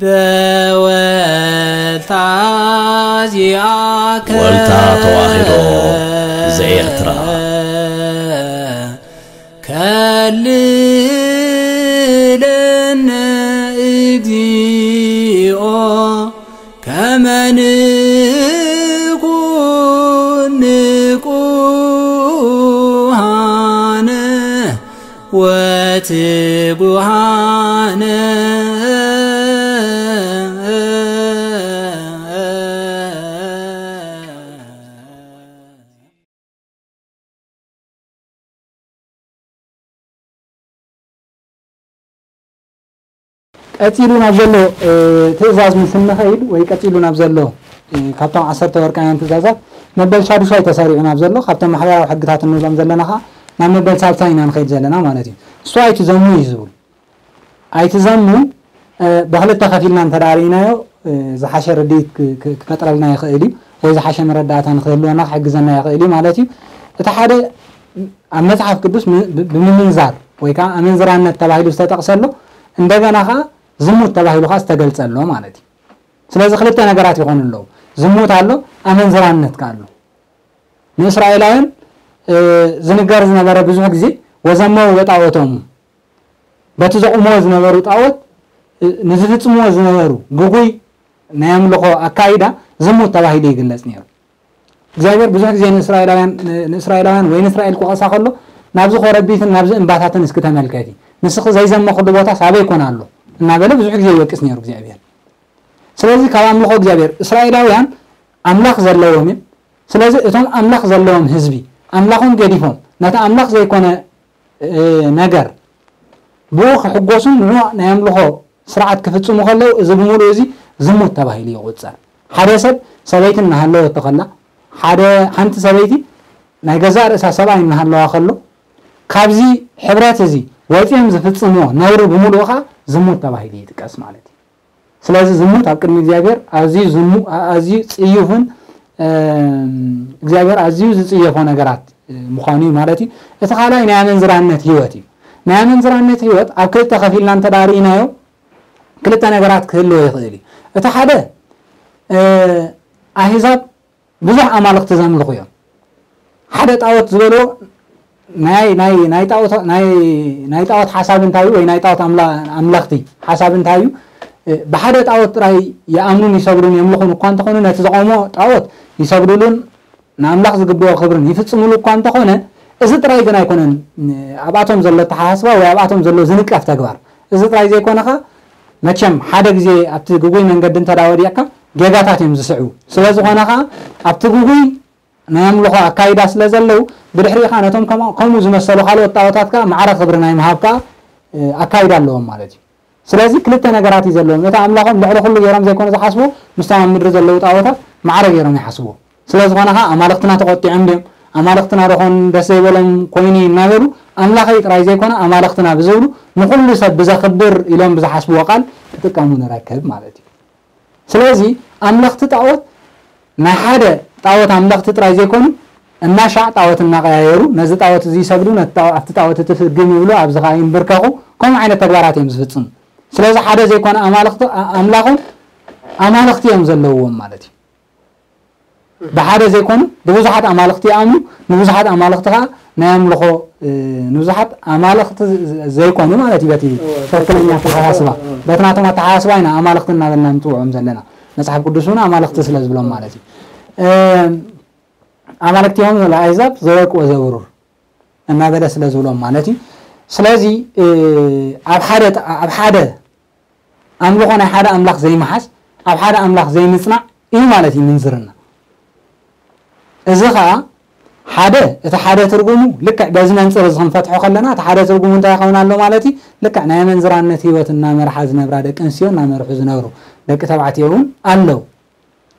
በወልታ ዚኣከ ወልታ ተዋሕዶ ዘኤርትራ። ከልለነ እግዚኦ ከመ ንኩን ንቁሃነ ወትጉሃነ። ቀጺሉ ናብ ዘሎ ትእዛዝ ምስ እንኸይድ ወይ ቀጺሉ ናብ ዘሎ ካብቶም ዓሰርተ ወርቃውያን ትእዛዛት መበል ሻዱሻይ ተሰሪዑ ናብ ዘሎ ካብቶም ማሕበራዊ ሕግታት እንብሎም ዘለና ከዓ ናብ መበል ሳልሳይ ኢና ንኸይድ ዘለና ማለት እዩ። እሱ ኣይትዘሙ እዩ ዝብል። ኣይትዘሙ ብክልተ ከፊልና እንተዳርኢናዮ ዝሓሸ ርድኢት ክፈጥረልና ይኽእል እዩ ወይ ዝሓሸ መረዳእታ ንክህልወና ክሕግዘና ይኽእል እዩ ማለት እዩ። እቲ ሓደ ኣብ መፅሓፍ ቅዱስ ብምምንዛር ወይ ከዓ ኣመንዝራነት ተባሂሉ ዝተጠቕሰ ኣሎ፣ እንደገና ከዓ ዝሙት ተባሂሉ ከዓ ዝተገልጸ ኣሎ ማለት እዩ። ስለዚ ክልተ ነገራት ይኾኑ ኣለዉ። ዝሙት ኣሎ፣ ኣመንዝራነት ከዓ ኣሎ። ንእስራኤላውያን ዝንገር ዝነበረ ብዙሕ ግዜ ወዘመው በጣዖቶሙ፣ በቲ ዘቑምዎ ዝነበሩ ጣዖት ንዝፍጽምዎ ዝነበሩ ግጉይ ናይ ኣምልኾ ኣካይዳ ዝሙት ተባሂሉ ይግለጽ ነይሩ። እግዚኣብሔር ብዙሕ ግዜ ንእስራኤላውያን ንእስራኤላውያን ወይ ንእስራኤል ክወቕሳ ከሎ ናብዚ ኮረቢትን ናብዚ እምባታትን እስኪ ተመልከቲ፣ ንስኺ ዘይዘመኽሉ ቦታ ሳበይ ኮን ኣሎ እናበለ ብዙሕ ግዜ ይወቅስ ነይሩ እግዚኣብሔር። ስለዚ ካብ ኣምልኾ እግዚኣብሔር እስራኤላውያን ኣምላኽ ዘለዎም እዮም። ስለዚ እቶም ኣምላኽ ዘለዎም ህዝቢ ኣምላኾም ገዲፎም ነቲ ኣምላኽ ዘይኮነ ነገር ብኡ ክሕጎሱን ንዑ ናይ ኣምልኾ ስርዓት ክፍጽሙ ከለዉ እዚ ብምሉእ እዚ ዝሙት ተባሂሉ ይቑጸር። ሓደ ሰብ ሰበይቲ እናሃለወቶ ከላ፣ ሓደ ሓንቲ ሰበይቲ ናይ ገዛእ ርእሳ ሰብኣይ እናሃለዋ ከሎ ካብዚ ሕብረት እዚ ወፂኦም ዝፍጽምዎ ነውሪ ብምሉኡ ከዓ ዝሙት ተባሂሉ ይጥቀስ ማለት እዩ። ስለዚ ዝሙት ኣብ ቅድሚ እግዚኣብሔር ኣዝዩ ዝሙ ኣዝዩ ጽዩፍን እግዚኣብሔር ኣዝዩ ዝጽየፎ ነገራት ምዃኑ እዩ ማለት እዩ። እቲ ካልኣይ ናይ ኣመንዝራነት ህይወት እዩ። ናይ ኣመንዝራነት ህይወት ኣብ ክልተ ከፊልና እንተዳርኢናዮ ክልተ ነገራት ክህልዎ ይኽእል እዩ። እቲ ሓደ ኣህዛብ ብዙሕ ኣማልኽቲ ዘምልኹ እዮም። ሓደ ጣዖት ዝበልዎ ናይ ናይ ናይ ጣዖት ናይ ናይ ጣዖት ሓሳብ እንታይ እዩ ወይ ናይ ጣዖት ኣምላ ኣምለኽቲ ሓሳብ እንታይ እዩ? ብሓደ ጣዖት ጥራይ ይኣምኑን ይሰግዱን የምልኹን እኳ እንተኾኑ ነቲ ዘቆሞ ጣዖት ይሰግዱሉን ንኣምላኽ ዝግብኦ ክብርን ይፍጽሙሉ እኳ እንተኾነ እዚ ጥራይ ግን ኣይኮነን ኣብኣቶም ዘሎ ኣተሓሳስባ ወይ ኣብኣቶም ዘሎ ዝንቀፍ ተግባር። እዚ ጥራይ ዘይኮነ ኸኣ መቸም ሓደ ግዜ ኣብቲ ግጉይ መንገዲ እንተ ደኣ ወዲቕካ ጌጋታት እዮም ዝስዕቡ። ስለ ዝኾነ ኸኣ ኣብቲ ግጉይ ናይ ኣምልኾ ኣካይዳ ስለ ዘለዉ ብድሕሪኡ ኸኣ ነቶም ከምኡ ዝመሰሉ ካልኦት ጣኦታት ከኣ ማዕረ ክብሪ ናይ ምሃብ ከኣ ኣካይዳ ኣለዎም ማለት እዩ። ስለዚ ክልተ ነገራት እዩ ዘለዎም። ነቲ ኣምላኾም ልዕሊ ኩሉ ገይሮም ዘይኮነ ዝሓስቡ ምስቶም ኣብ ምድሪ ዘለዉ ጣኦታት ማዕረ ገይሮም ይሓስቡ። ስለ ዝኾነ ኸዓ ኣማልኽትና ተቖጢዖም ድዮም ኣማልኽትና ዶ ኾን ደስ ዘይበሎም ኮይኑ እዩ እናበሉ ኣምላኸይ ጥራይ ዘይኮነ ኣማልኽትና ብዝብሉ ንኹሉ ሰብ ብዘኽብር ኢሎም ብዝሓስብዎ ቃል ክጥቀሙ ንረክብ ማለት እዩ። ስለዚ ኣምለኽቲ ጣዖት ናይ ሓደ ጣዖት ኣምለኽቲ ጥራይ ዘይኮኑ እናሻዕ ጣዖት እናቐያየሩ ነዚ ጣዖት እዚ ይሰግዱ ነቲ ጣዖ- ኣብቲ ጣዖት እቲ ፍግም ይብሉ ኣብዚ ኸዓ ይንብርከኹ ከምኡ ዓይነት ተግባራት እዮም ዝፍፅሙ። ስለዚ ሓደ ዘይኮነ ኣማልኽቲ ኣ- ኣምላኾም ኣማልኽቲ እዮም ዘለውዎም ማለት እዩ። ብሓደ ዘይኮኑ ብብዙሓት ኣማልኽቲ ይኣምኑ ንብዙሓት ኣማልኽቲ ከዓ ናይ ኣምልኾ ንብዙሓት ኣማልኽቲ ዘይኮኑ ማለት እዩ በቲ ትክክለኛ ኣተሓሳስባ በቲ ናቶም ኣተሓሳስባ ኢና ኣማልኽቲ እናበልና ንፅውዖም ዘለና። መፅሓፍ ቅዱስ እውን ኣማልኽቲ ስለ ዝብሎም ማለት እዩ። ኣማልክቲሆም ለኣሕዛብ ዘወርቅ ወዘብሩር እናበለ ስለ ዝብሎም ማለት እዩ። ስለዚ ኣብ ሓደ ኣብ ሓደ ኣምልኾ ናይ ሓደ ኣምላኽ ዘይምሓዝ ኣብ ሓደ ኣምላኽ ዘይምፅናዕ እዩ ማለት እዩ ምንዝርና። እዚ ኸዓ ሓደ እቲ ሓደ ትርጉሙ ልክዕ በዚ መንፅር እዚ ክንፈትሖ ከለና እቲ ሓደ ትርጉሙ እንታይ ይኸውን ኣሎ ማለት እዩ። ልክዕ ናይ ኣመንዝራነት ህይወት እናመርሓ ዝነብራ ደቂ ኣንስትዮ እናመርሑ ዝነብሩ ደቂ ተባዕትዮ እውን ኣለዉ።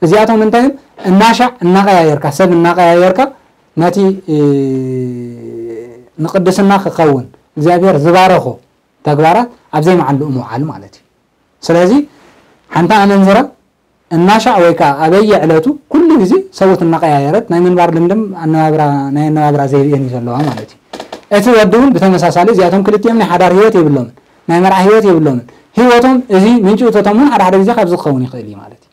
እዚኣቶም እንታይ እዮም? እናሻዕ እናቐያየርካ ሰብ እናቐያየርካ ነቲ ንቅድስና ክኸውን እግዚኣብሔር ዝባረኾ ተግባራት ኣብ ዘይመዓልኡ ምውዓል ማለት እዩ። ስለዚ ሓንቲ ኣመንዝራ እናሻዕ ወይ ከዓ ኣበየ ዕለቱ ኩሉ ግዜ ሰብኡት እናቀያየረት ናይ ምንባር ልምድም ኣነባብራ ናይ ኣነባብራ ዘይብኤን እዩ ዘለዋ ማለት እዩ። እቲ ወዲ እውን ብተመሳሳሊ እዚኣቶም ክልቲኦም ናይ ሓዳር ህይወት የብሎምን፣ ናይ መርዓ ህይወት የብሎምን። ህይወቶም እዚ ምንጪ እቶቶም እውን ሓደ ሓደ ግዜ ካብዚ ክኸውን ይኽእል እዩ ማለት እዩ።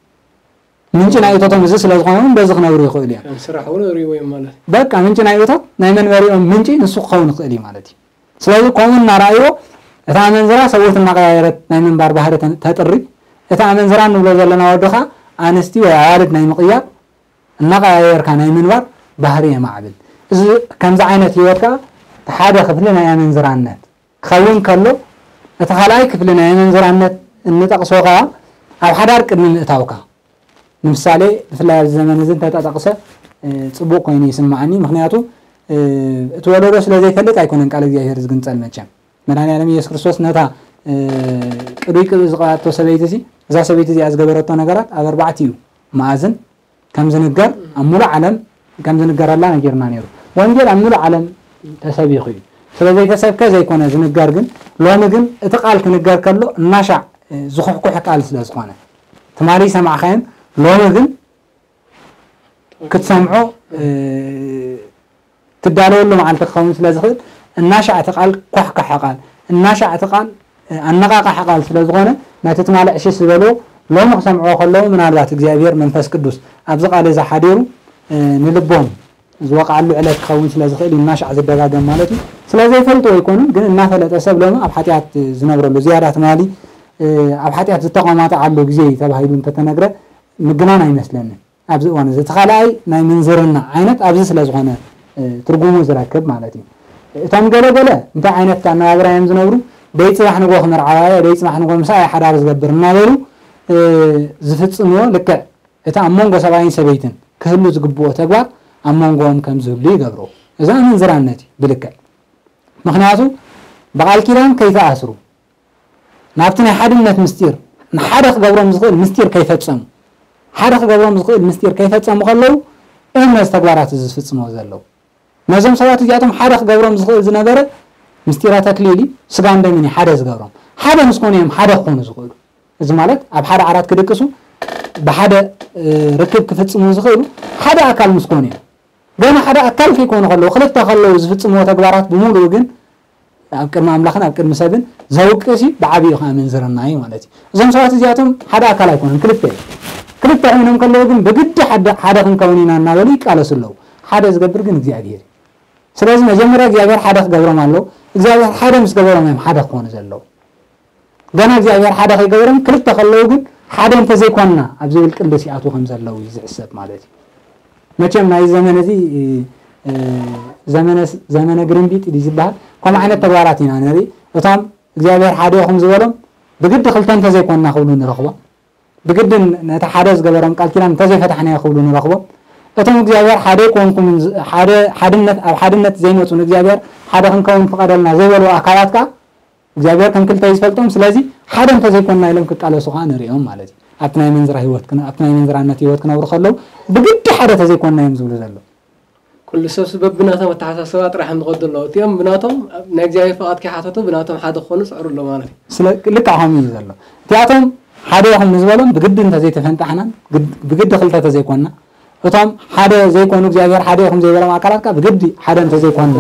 ምንጪ ናይ እቶቶም እዚ ስለ ዝኾነ እውን በዚ ክነብሩ ይኽእሉ እዮም። ከም ስራሕ እውን ሪቦ እዮም ማለት እዩ። በቃ ምንጪ ናይ እቶት ናይ መንበሪኦም ምንጪ ንሱ ክኸውን ይኽእል እዩ ማለት እዩ። ስለዚ ከምኡ እናረኣይዎ እታ ኣመንዝራ ሰብኡት እናቐያየረት ናይ ምንባር ባህሪ ተ- ተጥሪ፣ እታ ኣመንዝራ እንብሎ ዘለና ወዲ ኸዓ ኣንስቲ ወይ ኣዋልድ ናይ ምቕያር እናቐያየርካ ናይ ምንባር ባህሪ የማዕብል። እዚ ከምዚ ዓይነት ህይወት ከዓ እቲ ሓደ ክፍሊ ናይ ኣመንዝራነት ክኸውን ከሎ፣ እቲ ካልኣይ ክፍሊ ናይ ኣመንዝራነት እንጠቕሶ ከዓ ኣብ ሓዳር ቅድሚ ምእታውካ፣ ንምሳሌ ብፍላይ ኣብዚ ዘመን እዚ እንተጠቕሰ እ፣ ፅቡቕ ኮይኑ ይስማዓኒ። ምክንያቱ እ፣ እቲ ወለዶ ስለ ዘይፈልጥ ኣይኮነን ቃል እግዚኣብሔር ዝግንፀል። መቸም መድኃኔዓለም ኢየሱስ ክርስቶስ ነታ እ፣ ቅዱይ ቅብእ ዝቐባቶ ሰበይቲ እዚ፣ እዛ ሰበይቲ እዚኣ ዝገበረቶ ነገራት ኣብ ኣርባዕቲኡ መኣዝን ከም ዝንገር ኣብ ሙሉእ ዓለም ከም ዝንገረላ ነጊርና ነይሩ። ወንጌል ኣብ ሙሉእ ዓለም ተሰቢኹ እዩ። ስለ ዘይተሰብከ ዘይኮነ ዝንገር፣ ግን ሎሚ ግን እቲ ቃል ክንገር ከሎ እናሻዕ እ፣ ዝኹሕኩሕ ቃል ስለ ዝኾነ ትማሊ ሰማዕካዮን ሎሚ ግን ክትሰምዖ እ፣ ትዳለወሉ መዓልቲ ክኸውን ስለ ዝኽእል እናሻዕ እቲ ቃል ኳሕኳሐ ቃል እናሻዕ እቲ ቃል ኣነቓቓሒ ቃል ስለ ዝኾነ ነቲ ትማሊ ዕሽሽ ዝበልዎ ሎሚ ክሰምዕዎ ከለዉ ምናልባት እግዚኣብሔር መንፈስ ቅዱስ ኣብዚ ቃል እዚ ሓዲሩ እ፣ ንልቦም ዝወቕዓሉ ዕለት ክኸውን ስለ ዝኽእል እዩ እናሻዕ ዝደጋገም ማለት እዩ። ስለ ዘይፈልጥዎ ኣይኮኑን፣ ግን እናፈለጠ ሰብ ሎሚ ኣብ ሓጢኣት ዝነብረሉ ዝያዳ ትማሊ እ፣ ኣብ ሓጢኣት ዝተቐማጠዓሉ ግዜ እዩ ተባሂሉ እንተተነግረ ምግናን ኣይመስለንን። ኣብዚ እዋን እዚ እቲ ካልኣይ ናይ ምንዝርና ዓይነት ኣብዚ ስለ ዝኾነ እ፣ ትርጉሙ ዝረክብ ማለት እዩ። እቶም ገለ ገለ እንታይ ዓይነት ኣነባብራ እዮም ዝነብሩ? ደይ ፅባሕ ንጎ ክምርዓዋ እየ፣ ደይ ፅባሕ ንጎ ምሳኣ እየ ሓዳር ዝገብር እናበሉ እ፣ ዝፍፅምዎ ልክዕ እቲ ኣብ መንጎ ሰብኣይን ሰበይትን ክህሉ ዝግብኦ ተግባር ኣብ መንጎኦም ከም ዝህሉ ይገብሮ። እዚ ኣመንዝራነት እዩ ብልክዕ። ምክንያቱ ብቃል ኪዳን ከይተኣስሩ ናብቲ ናይ ሓድነት ምስጢር ንሓደ ክገብሮም ዝኽእል ምስጢር ከይፈጸሙ ሓደ ክገብሮም ዝኽእል ምስጢር ከይፈጸሙ ከለዉ እዮም ነዚ ተግባራት እዚ ዝፍጽምዎ ዘለዉ። ነዞም ሰባት እዚኣቶም ሓደ ክገብሮም ዝኽእል ዝነበረ ምስጢረ ተክሊል እዩ፣ ስጋን ደምን እዩ ሓደ ዝገብሮም። ሓደ ምስ ኮኑ እዮም ሓደ ክኾኑ ዝኽእሉ። እዚ ማለት ኣብ ሓደ ዓራት ክድቅሱ ብሓደ እ፣ ርክብ ክፍጽሙ ዝኽእሉ ሓደ ኣካል ምስ ኮኑ እዮም። ገና ሓደ ኣካል ከይኮኑ ከለዉ ክልተ ከለዉ ዝፍጽምዎ ተግባራት ብምሉኡ ግን ኣብ ቅድሚ ኣምላኽን ኣብ ቅድሚ ሰብን ዘውቅስ እዩ፣ ብዓብዩ ከዓ ምንዝርና እዩ ማለት እዩ። እዞም ሰባት እዚኣቶም ሓደ ኣካል ኣይኮኑን፣ ክልተ እዮም። ክልተ ኮይኖም ከለዉ ግን ብግዲ ሓደ ሓደ ክንከውን ኢና እናበሉ ይቃለሱ ኣለዉ። ሓደ ዝገብር ግን እግዚኣብሔር እዩ። ስለዚ መጀመርያ እግዚኣብሔር ሓደ ክገብሮም ኣለዉ። እግዚኣብሔር ሓደ ምስ ገበሮም እዮም ሓደ ክኾኑ ዘለዉ። ገና እግዚኣብሔር ሓደ ከይገበሮም ክልተ ከለዉ ግን ሓደ እንተዘይኮንና ኣብ ዝብል ቅልስ ይኣትዉ ከም ዘለዉ እዩ ዝሕሰብ ማለት እዩ። መቸም ናይ ዘመን እዚ እ፣ ዘመነ ዘመነ ግርምቢጥ ድዩ ዝበሃል ከምኡ ዓይነት ተግባራት ኢና ንርኢ። እቶም እግዚኣብሔር ሓደ ኢኹም ዝበሎም ብግዲ ክልተ እንተዘይኮንና ክብሉ ንረኽቦም። ብግድን ነቲ ሓደ ዝገበሮም ቃል ኪዳን እንተዘይፈታሕናዮ ክብሉ ንረኽቦም። እቶም እግዚኣብሔር ሓደ ኣይኮንኩምን ዝ- ሓደ ሓድነት ኣብ ሓድነት ዘይመፁ ንእግዚኣብሔር ሓደ ክንከውን ፍቐደልና ዘይበሉ ኣካላት ከዓ እግዚኣብሔር ከም ክልተ እዩ ዝፈልጦም። ስለዚ ሓደ እንተዘይኮንና ኢሎም ክቃለሱ ከዓ ንሪኦም ማለት እዩ። ኣብቲ ናይ መንዝራ ህይወት ክነ- ኣብቲ ናይ መንዝራነት ህይወት ክነብሩ ከለዉ ብግዲ ሓደ ተዘይኮንና እዮም ዝብሉ ዘለዉ። ኩሉ ሰብስ በብናቶም ኣተሓሳስባ ጥራሕ እዮም ዝኸዱ ኣለዉ። እቲኦም ብናቶም ናይ እግዚኣብሔር ፍቓድ ከይሓተቱ ብናቶም ሓደ ክኾኑ ይፅዕሩ ኣለዉ ማለት እዩ። ስለ ልክዕ ከምኡ እዩ ዘሎ። እቲኣቶም ሓደ ኢኹም ንዝበሎም ብግዲ እንተዘይተፈንጣሕናን ግድ- ብግዲ ክልተ ተዘይኮንና እቶም ሓደ ዘይኮኑ እግዚኣብሔር ሓደ ኢኹም ዘይበሎም ኣካላት ከዓ ብግዲ ሓደ እንተዘይኮንና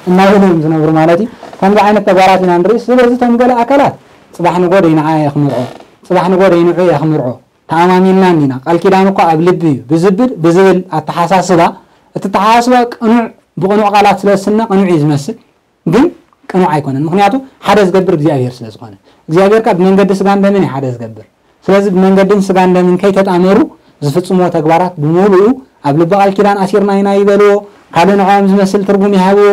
እናበሉ እዮም ዝነብሩ ማለት እዩ። ከምዚ ዓይነት ተግባራት ኢና ንርኢ። ስለዚ እቶም ገለ ኣካላት ፅባሕ ንጎ ደይ ንዓ እየ ክምርዖ፣ ፅባሕ ንጎ ደይ ንዑ እየ ክምርዖ ተኣማሚንና እንዲና። ቃል ኪዳን እኮ ኣብ ልቢ እዩ ብዝብል ብዝብል ኣተሓሳስባ እቲ ኣተሓሳስባ ቅኑዕ ብቅኑዕ ቃላት ስለ ዝስነ ቅኑዕ እዩ ዝመስል። ግን ቅኑዕ ኣይኮነን። ምክንያቱ ሓደ ዝገብር እግዚኣብሔር ስለ ዝኾነ። እግዚኣብሔር ከዓ ብመንገዲ ስጋን ደምን እዩ ሓደ ዝገብር። ስለዚ ብመንገድን ስጋን ደምን ከይተጣመሩ ዝፍጽምዎ ተግባራት ብምሉኡ ኣብ ልቢ ቃል ኪዳን ኣሲርና ኢና ይበልዎ፣ ካልእ ንዕኦም ዝመስል ትርጉም ይሃብዎ፣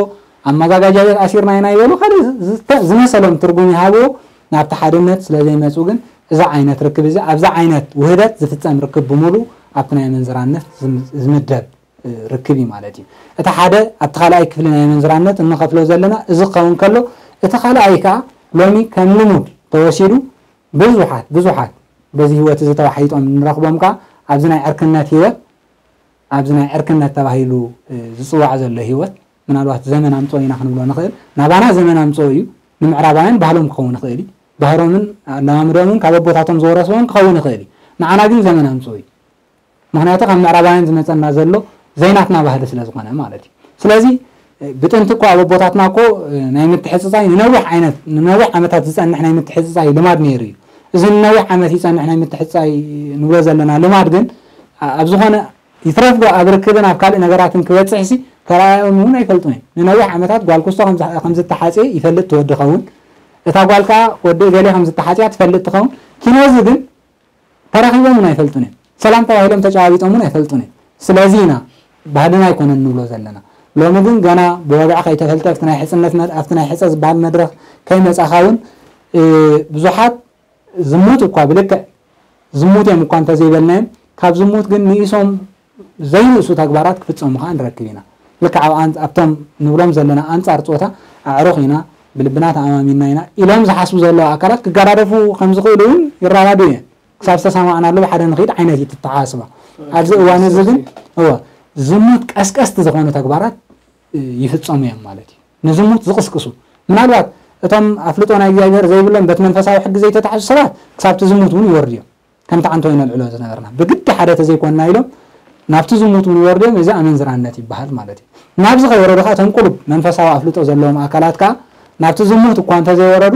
ኣብ መጋጋጃ ቤት ኣሲርና ኢና ይበሉ፣ ካልእ ዝተ- ዝመሰሎም ትርጉም ይሃብዎ። ናብቲ ሓድነት ስለ ዘይመፁ ግን እዚ ዓይነት ርክብ እዚ ኣብዛ ዓይነት ውህደት ዝፍጸም ርክብ ብምሉኡ ኣብቲ ናይ ኣመንዝራነት ዝም- ዝምደብ ርክብ እዩ ማለት እዩ። እቲ ሓደ ኣብቲ ካልኣይ ክፍሊ ናይ ኣመንዝራነት እንኸፍሎ ዘለና እዚ ክኸውን ከሎ እቲ ካልኣይ ከዓ ሎሚ ከም ልሙድ ተወሲዱ ብዙሓት ብዙሓት በዚ ህይወት እዚ ተዋሒጦም ንረኽቦም ከዓ ኣብዚ ናይ ዕርክነት ህይወት ኣብዚ ናይ ዕርክነት ተባሂሉ ዝፅዋዕ ዘሎ ህይወት ምናልባት ዘመን ኣምፅኦ ኢና ክንብሎ ንኽእል። ናባና ዘመን ኣምፅኦ እዩ። ንምዕራባውያን ባህሎም ክኸውን ይኽእል እዩ። ባህሮምን ኣለማምዶምን ካብ ኣቦታቶም ዝወረስዎም ክኸውን ይኽእል እዩ። ንዓና ግን ዘመን ኣምፅኦ እዩ። ምኽንያቱ ካብ ምዕራባውያን ዝመፀና ዘሎ ዘይናትና ባህሊ ስለ ዝኾነ ማለት እዩ። ስለዚ ብጥንቲ እኮ ኣብ ኣቦታትና እኮ ናይ ምትሕፅፃይ ንነዊሕ ዓይነት ንነዊሕ ዓመታት ዝፀንሕ ናይ ምትሕፅፃይ ልማድ ነይሩ እዩ። እዚ ንነዊሕ ዓመት ይፀንሕ ናይ ምትሕፅፃይ ንብሎ ዘለና ልማድ ግን ኣብ ዝኾነ ይትረፍ ዶ ኣብ ርክብን ኣብ ካልእ ነገራትን ክበፅሕ ሲ ተረኣዮም እውን ኣይፈልጡን እዮም። ንነዊሕ ዓመታት ጓል ክስቶ ከም ዝተሓፅየ ይፈልጥ ትወዲ ኸውን እታ ጓል ከዓ ወዲ ገሌ ከም ዝተሓፅያ ትፈልጥ ትኸውን። ኪኖዚ ግን ተራኺቦም እውን ኣይፈልጡን እዮም። ሰላም ተባሂሎም ተጨባቢጦም እውን ኣይፈልጡን እዮም። ስለዚ ኢና ባህልና ኣይኮነን ንብሎ ዘለና። ሎሚ ግን ገና ብወግዒ ከይተፈልጠ ኣብቲ ናይ ሕፅነት መ- ኣብቲ ናይ ሕፀ ዝበሃል መድረኽ ከይመፃኻ እውን እ፣ ብዙሓት ዝሙት እኳ ብልክዕ ዝሙት እዮም እኳ እንተዘይበልናዮም ካብ ዝሙት ግን ንኢሶም ዘይንእሱ ተግባራት ክፍፀሙ ከዓ ንረክብ ኢና። ልክዕ ኣብ ኣን- ኣብቶም ንብሎም ዘለና ኣንፃር ፆታ ኣዕሩኽ ኢና ብልብና ተኣማሚና ኢና ኢሎም ዝሓስቡ ዘለዉ ኣካላት ክገዳደፉ ከም ዝኽእሉ እውን ይረዳዱ እየ። ክሳብ ዝተሰማዕናሉ ብሓደ ንኽድ ዓይነት እዩ ተተሓሳስባ። ኣብዚ እዋን እዚ ግን እወ ዝሙት ቀስቀስቲ ዝኾኑ ተግባራት ይፍፀሙ እዮም ማለት እዩ። ንዝሙት ዝቕስቅሱ ምናልባት እቶም ኣፍልጦ ናይ እግዚኣብሔር ዘይብሎም በቲ መንፈሳዊ ሕጊ ዘይተታሕዙ ሰባት ክሳብቲ ዝሙት እውን ይወርዱ እዮም። ከምቲ ዓንቶ ይነልዕሎ ዝነበርና ብግዲ ሓደ ተዘይኮንና ኢሎም ናብቲ ዝሙት እውን ይወርዱ እዮም። እዚ ኣመንዝራነት ይበሃል ማለት እዩ። ናብዚ ከይወረዱ ከዓ እቶም ቁሩብ መንፈሳዊ ኣፍልጦ ዘለዎም ኣካላት ከዓ ናብቲ ዝሙት እኳ እንተዘይወረዱ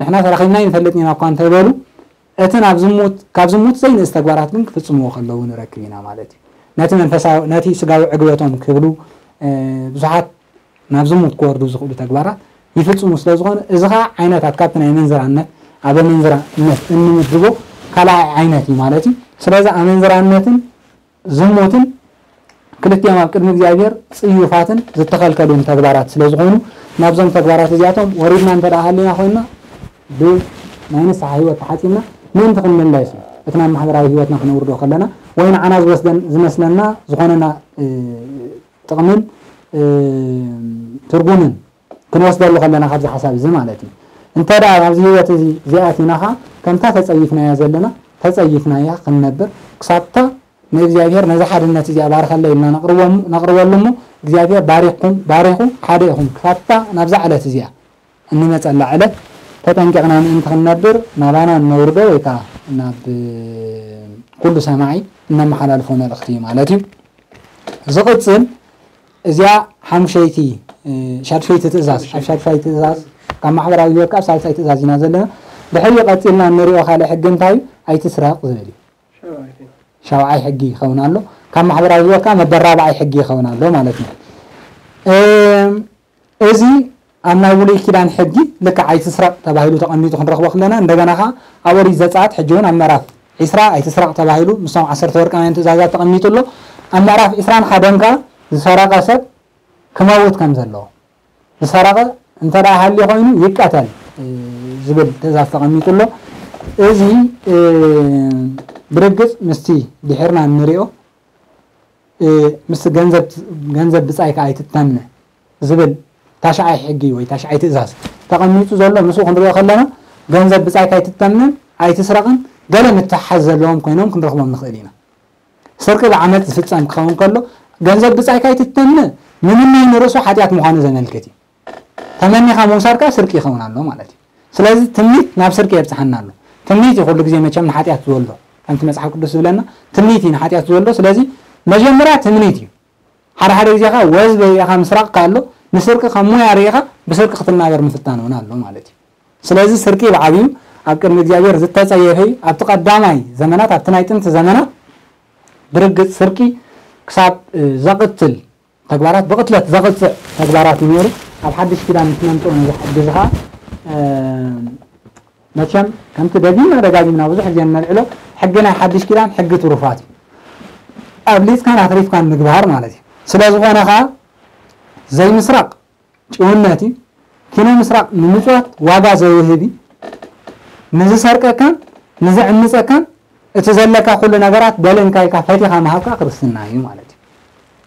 ንሕና ተራኺብና ይንፈልጥ ኢና እኳ እንተበሉ እቲ ናብ ዝሙት ካብ ዝሙት ዘይንእስ ተግባራት ግን ክፍጽምዎ ከለዉ ንረክብ ኢና ማለት እዩ። ነቲ መንፈሳዊ ነቲ ስጋዊ ዕግበቶም ክብሉ ብዙሓት ናብ ዝሙት ክወርዱ ዝኽእሉ ተግባራት ይፍጽሙ ስለ ዝኾነ እዚ ኸዓ ዓይነታት ካብቲ ናይ መንዝራነት ኣብ መንዝራነት እንምድቦ ካልኣይ ዓይነት እዩ ማለት እዩ። ስለዚ ኣመንዝራነትን ዝሙትን ክልቲኦም ኣብ ቅድሚ እግዚኣብሔር ጽዩፋትን ዝተኸልከሉን ተግባራት ስለ ዝኾኑ ናብዞም ተግባራት እዚኣቶም ወሪድና እንተ ደኣ ሃሊና ኮይንና ብናይ ንስሓ ህይወት ተሓጺብና ምእንቲ ክንምለስ እዩ። እቲ ናብ ማሕበራዊ ህይወትና ክነውርዶ ከለና ወይ ንዓና ዝወስደን ዝመስለና ዝኾነና ጥቕምን ትርጉምን ክንወስደሉ ከለና ካብዚ ሓሳብ እዚ ማለት እዩ። እንተ ደኣ ኣብዚ ህይወት እዚ እዚኣቲና ኸዓ ከምታ ተጸይፍናያ ዘለና ተጸይፍናያ ክንነብር ክሳብታ ንእግዚኣብሔር ነዚ ሓድነት እዚኣ ባርኸለይ ኢልና ነቕርበሉ እሞ እግዚኣብሔር ባሪኽኩም ባሪኹ ሓደ ኢኹም ክሳብታ ናብዛ ዕለት እዚኣ እንመጸላ ዕለት ተጠንቂቕና ምእንቲ ክንነብር ናባና እነውርዶ ወይ ከዓ ናብ ኩሉ ሰማዒ እነመሓላልፎ መልእኽቲ እዩ ማለት እዩ። ዝቕጽል እዚኣ ሓሙሸይቲ ሻድሸይቲ ትእዛዝ ኣብ ሻድሻይ ትእዛዝ ካብ ማሕበራዊ ህይወት ካብ ሳልሳይ ትእዛዝ ኢና ዘለና። ድሕሪኡ ቀጺልና እንሪኦ ካልእ ሕጊ እንታይ እዩ? ኣይትስረቕ ዝብል እዩ። ሻውዓይ ሕጊ ይኸውን ኣሎ። ካብ ማሕበራዊ ህይወት ከዓ መበራብዓይ ሕጊ ይኸውን ኣሎ ማለት እዩ። እዚ ኣብ ናይ ብሉይ ኪዳን ሕጊ ልክዕ ኣይትስረቕ ተባሂሉ ተቐሚጡ ክንረኽቦ ከለና እንደገና ከዓ ኣብ ኦሪት ዘጸኣት ሕጂ እውን ኣብ ምዕራፍ ዒስራ ኣይትስረቕ ተባሂሉ ምስቶም ዓሰርተ ወርቃውያን ትእዛዛት ተቐሚጡ ኣሎ። ኣብ ምዕራፍ ዒስራን ሓደን ከዓ ዝሰረቐ ሰብ ክመውት ከም ዘለዎ ዝሰረቐ እንተ ደኣ ሃልዩ ኮይኑ ይቀተል ዝብል ትእዛዝ ተቐሚጡ ኣሎ። እዚ ብርግጽ ምስቲ ድሒርና እንሪኦ ምስ ገንዘብ ገንዘብ ብጻይካ ኣይትተምነ ዝብል ታሽዓይ ሕጊ ወይ ታሽዓይ ትእዛዝ ተቐሚጡ ዘሎ ምስኡ ክንሪኦ ከለና ገንዘብ ብጻይካ ኣይትተምንን ኣይትስረቕን ገለ ምትሓዝ ዘለዎም ኮይኖም ክንረኽቦም ንኽእል ኢና። ስርቂ ብዓመጽ ዝፍጸም ክኸውን ከሎ ገንዘብ ብጻይካ ኣይትተምነ ምምናይ ንርእሱ ሓጢኣት ምዃኑ ዘመልክት እዩ። ተመኒኻ ምውሳድ ከኣ ስርቂ ይኸውን ኣሎ ማለት እዩ። ስለዚ ትምኒት ናብ ስርቂ የብጽሓና ኣሎ። ትምኒት እዩ ኩሉ ግዜ መቸም ንሓጢኣት ዝወልዶ። ከምቲ መጽሓፍ ቅዱስ ዝብለና ትምኒት እዩ ንሓጢኣት ዝወልዶ። ስለዚ መጀመርያ ትምኒት እዩ። ሓደ ሓደ ግዜ ከኣ ወዝ በይኻ ምስራቕ ከኣ ኣሎ ንስርቂ ከም ሞያ ርኢኻ ብስርቂ ክትናበር ምፍታን እውን ኣሎ ማለት እዩ። ስለዚ ስርቂ ብዓብዩ ኣብ ቅድሚ እግዚኣብሔር ዝተጸየፈ እዩ። ኣብቲ ቀዳማይ ዘመናት ኣብቲ ናይ ጥንቲ ዘመናት ብርግጽ ስርቂ ክሳብ ዘቕትል ተግባራት ብቕትለት ዘቕጽዕ ተግባራት እዩ ነይሩ። ኣብ ሓድሽ ኪዳን ምስ መምጽኡ ነዚ ሕጊ እዚ ኸዓ መቸም ከምቲ ደጊምና ደጋጊምና ብዙሕ ግዜ እነልዕሎ ሕጊ ናይ ሓድሽ ኪዳን ሕጊ ትሩፋት እዩ። ኣብሊጽካን ኣትሪፍካን ምግባር ማለት እዩ። ስለ ዝኾነ ኸዓ ዘይምስራቕ ጭውነት እዩ። ኪኖ ምስራቕ ንምጽዋት ዋጋ ዘውህብ እዩ። ንዝሰርቀካን ንዝዕምጸካን እቲ ዘለካ ኩሉ ነገራት በል እንካ ኢልካ ፈቲኻ ምሃብካ ክርስትና እዩ ማለት እዩ።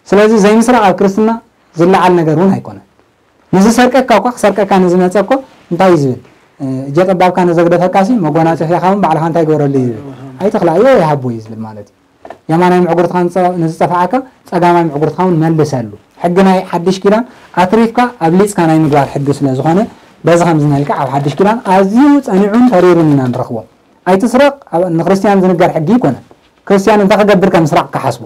ስለዚ ዘይምስራቕ ኣብ ክርስትና ዝለዓል ነገር እውን ኣይኮነን። ንዝሰርቀካ እኳ ክሰርቀካ ንዝመጸ እኮ እንታይ እዩ ዝብል? እጀ ጠባብካ ንዘግደፈካ ሲ መጎናጸፊያኻ እውን ባዕልኻ እንታይ ግበረሉ እዩ ዝብል? ኣይትኽላእዮ ይሃቦ እዩ ዝብል ማለት እዩ። የማናይ ምዕጉርትኻ ንዝጠፍዓካ ጸጋማይ ምዕጉርትኻ እውን መልሰሉ። ሕጊ ናይ ሓድሽ ኪዳን ኣትሪፍካ ኣብሊጽካ ናይ ምግባር ሕጊ ስለ ዝኾነ በዚ ከምዚ መልክዕ ኣብ ሓድሽ ኪዳን ኣዝዩ ጸኒዑን ተሪሩን ኢና ንረኽቦ። ኣይትስረቕ ንክርስትያን ዝንገር ሕጊ ኣይኮነን። ክርስትያን እንታይ ክገብር ከም ምስራቕ ክሓስቦ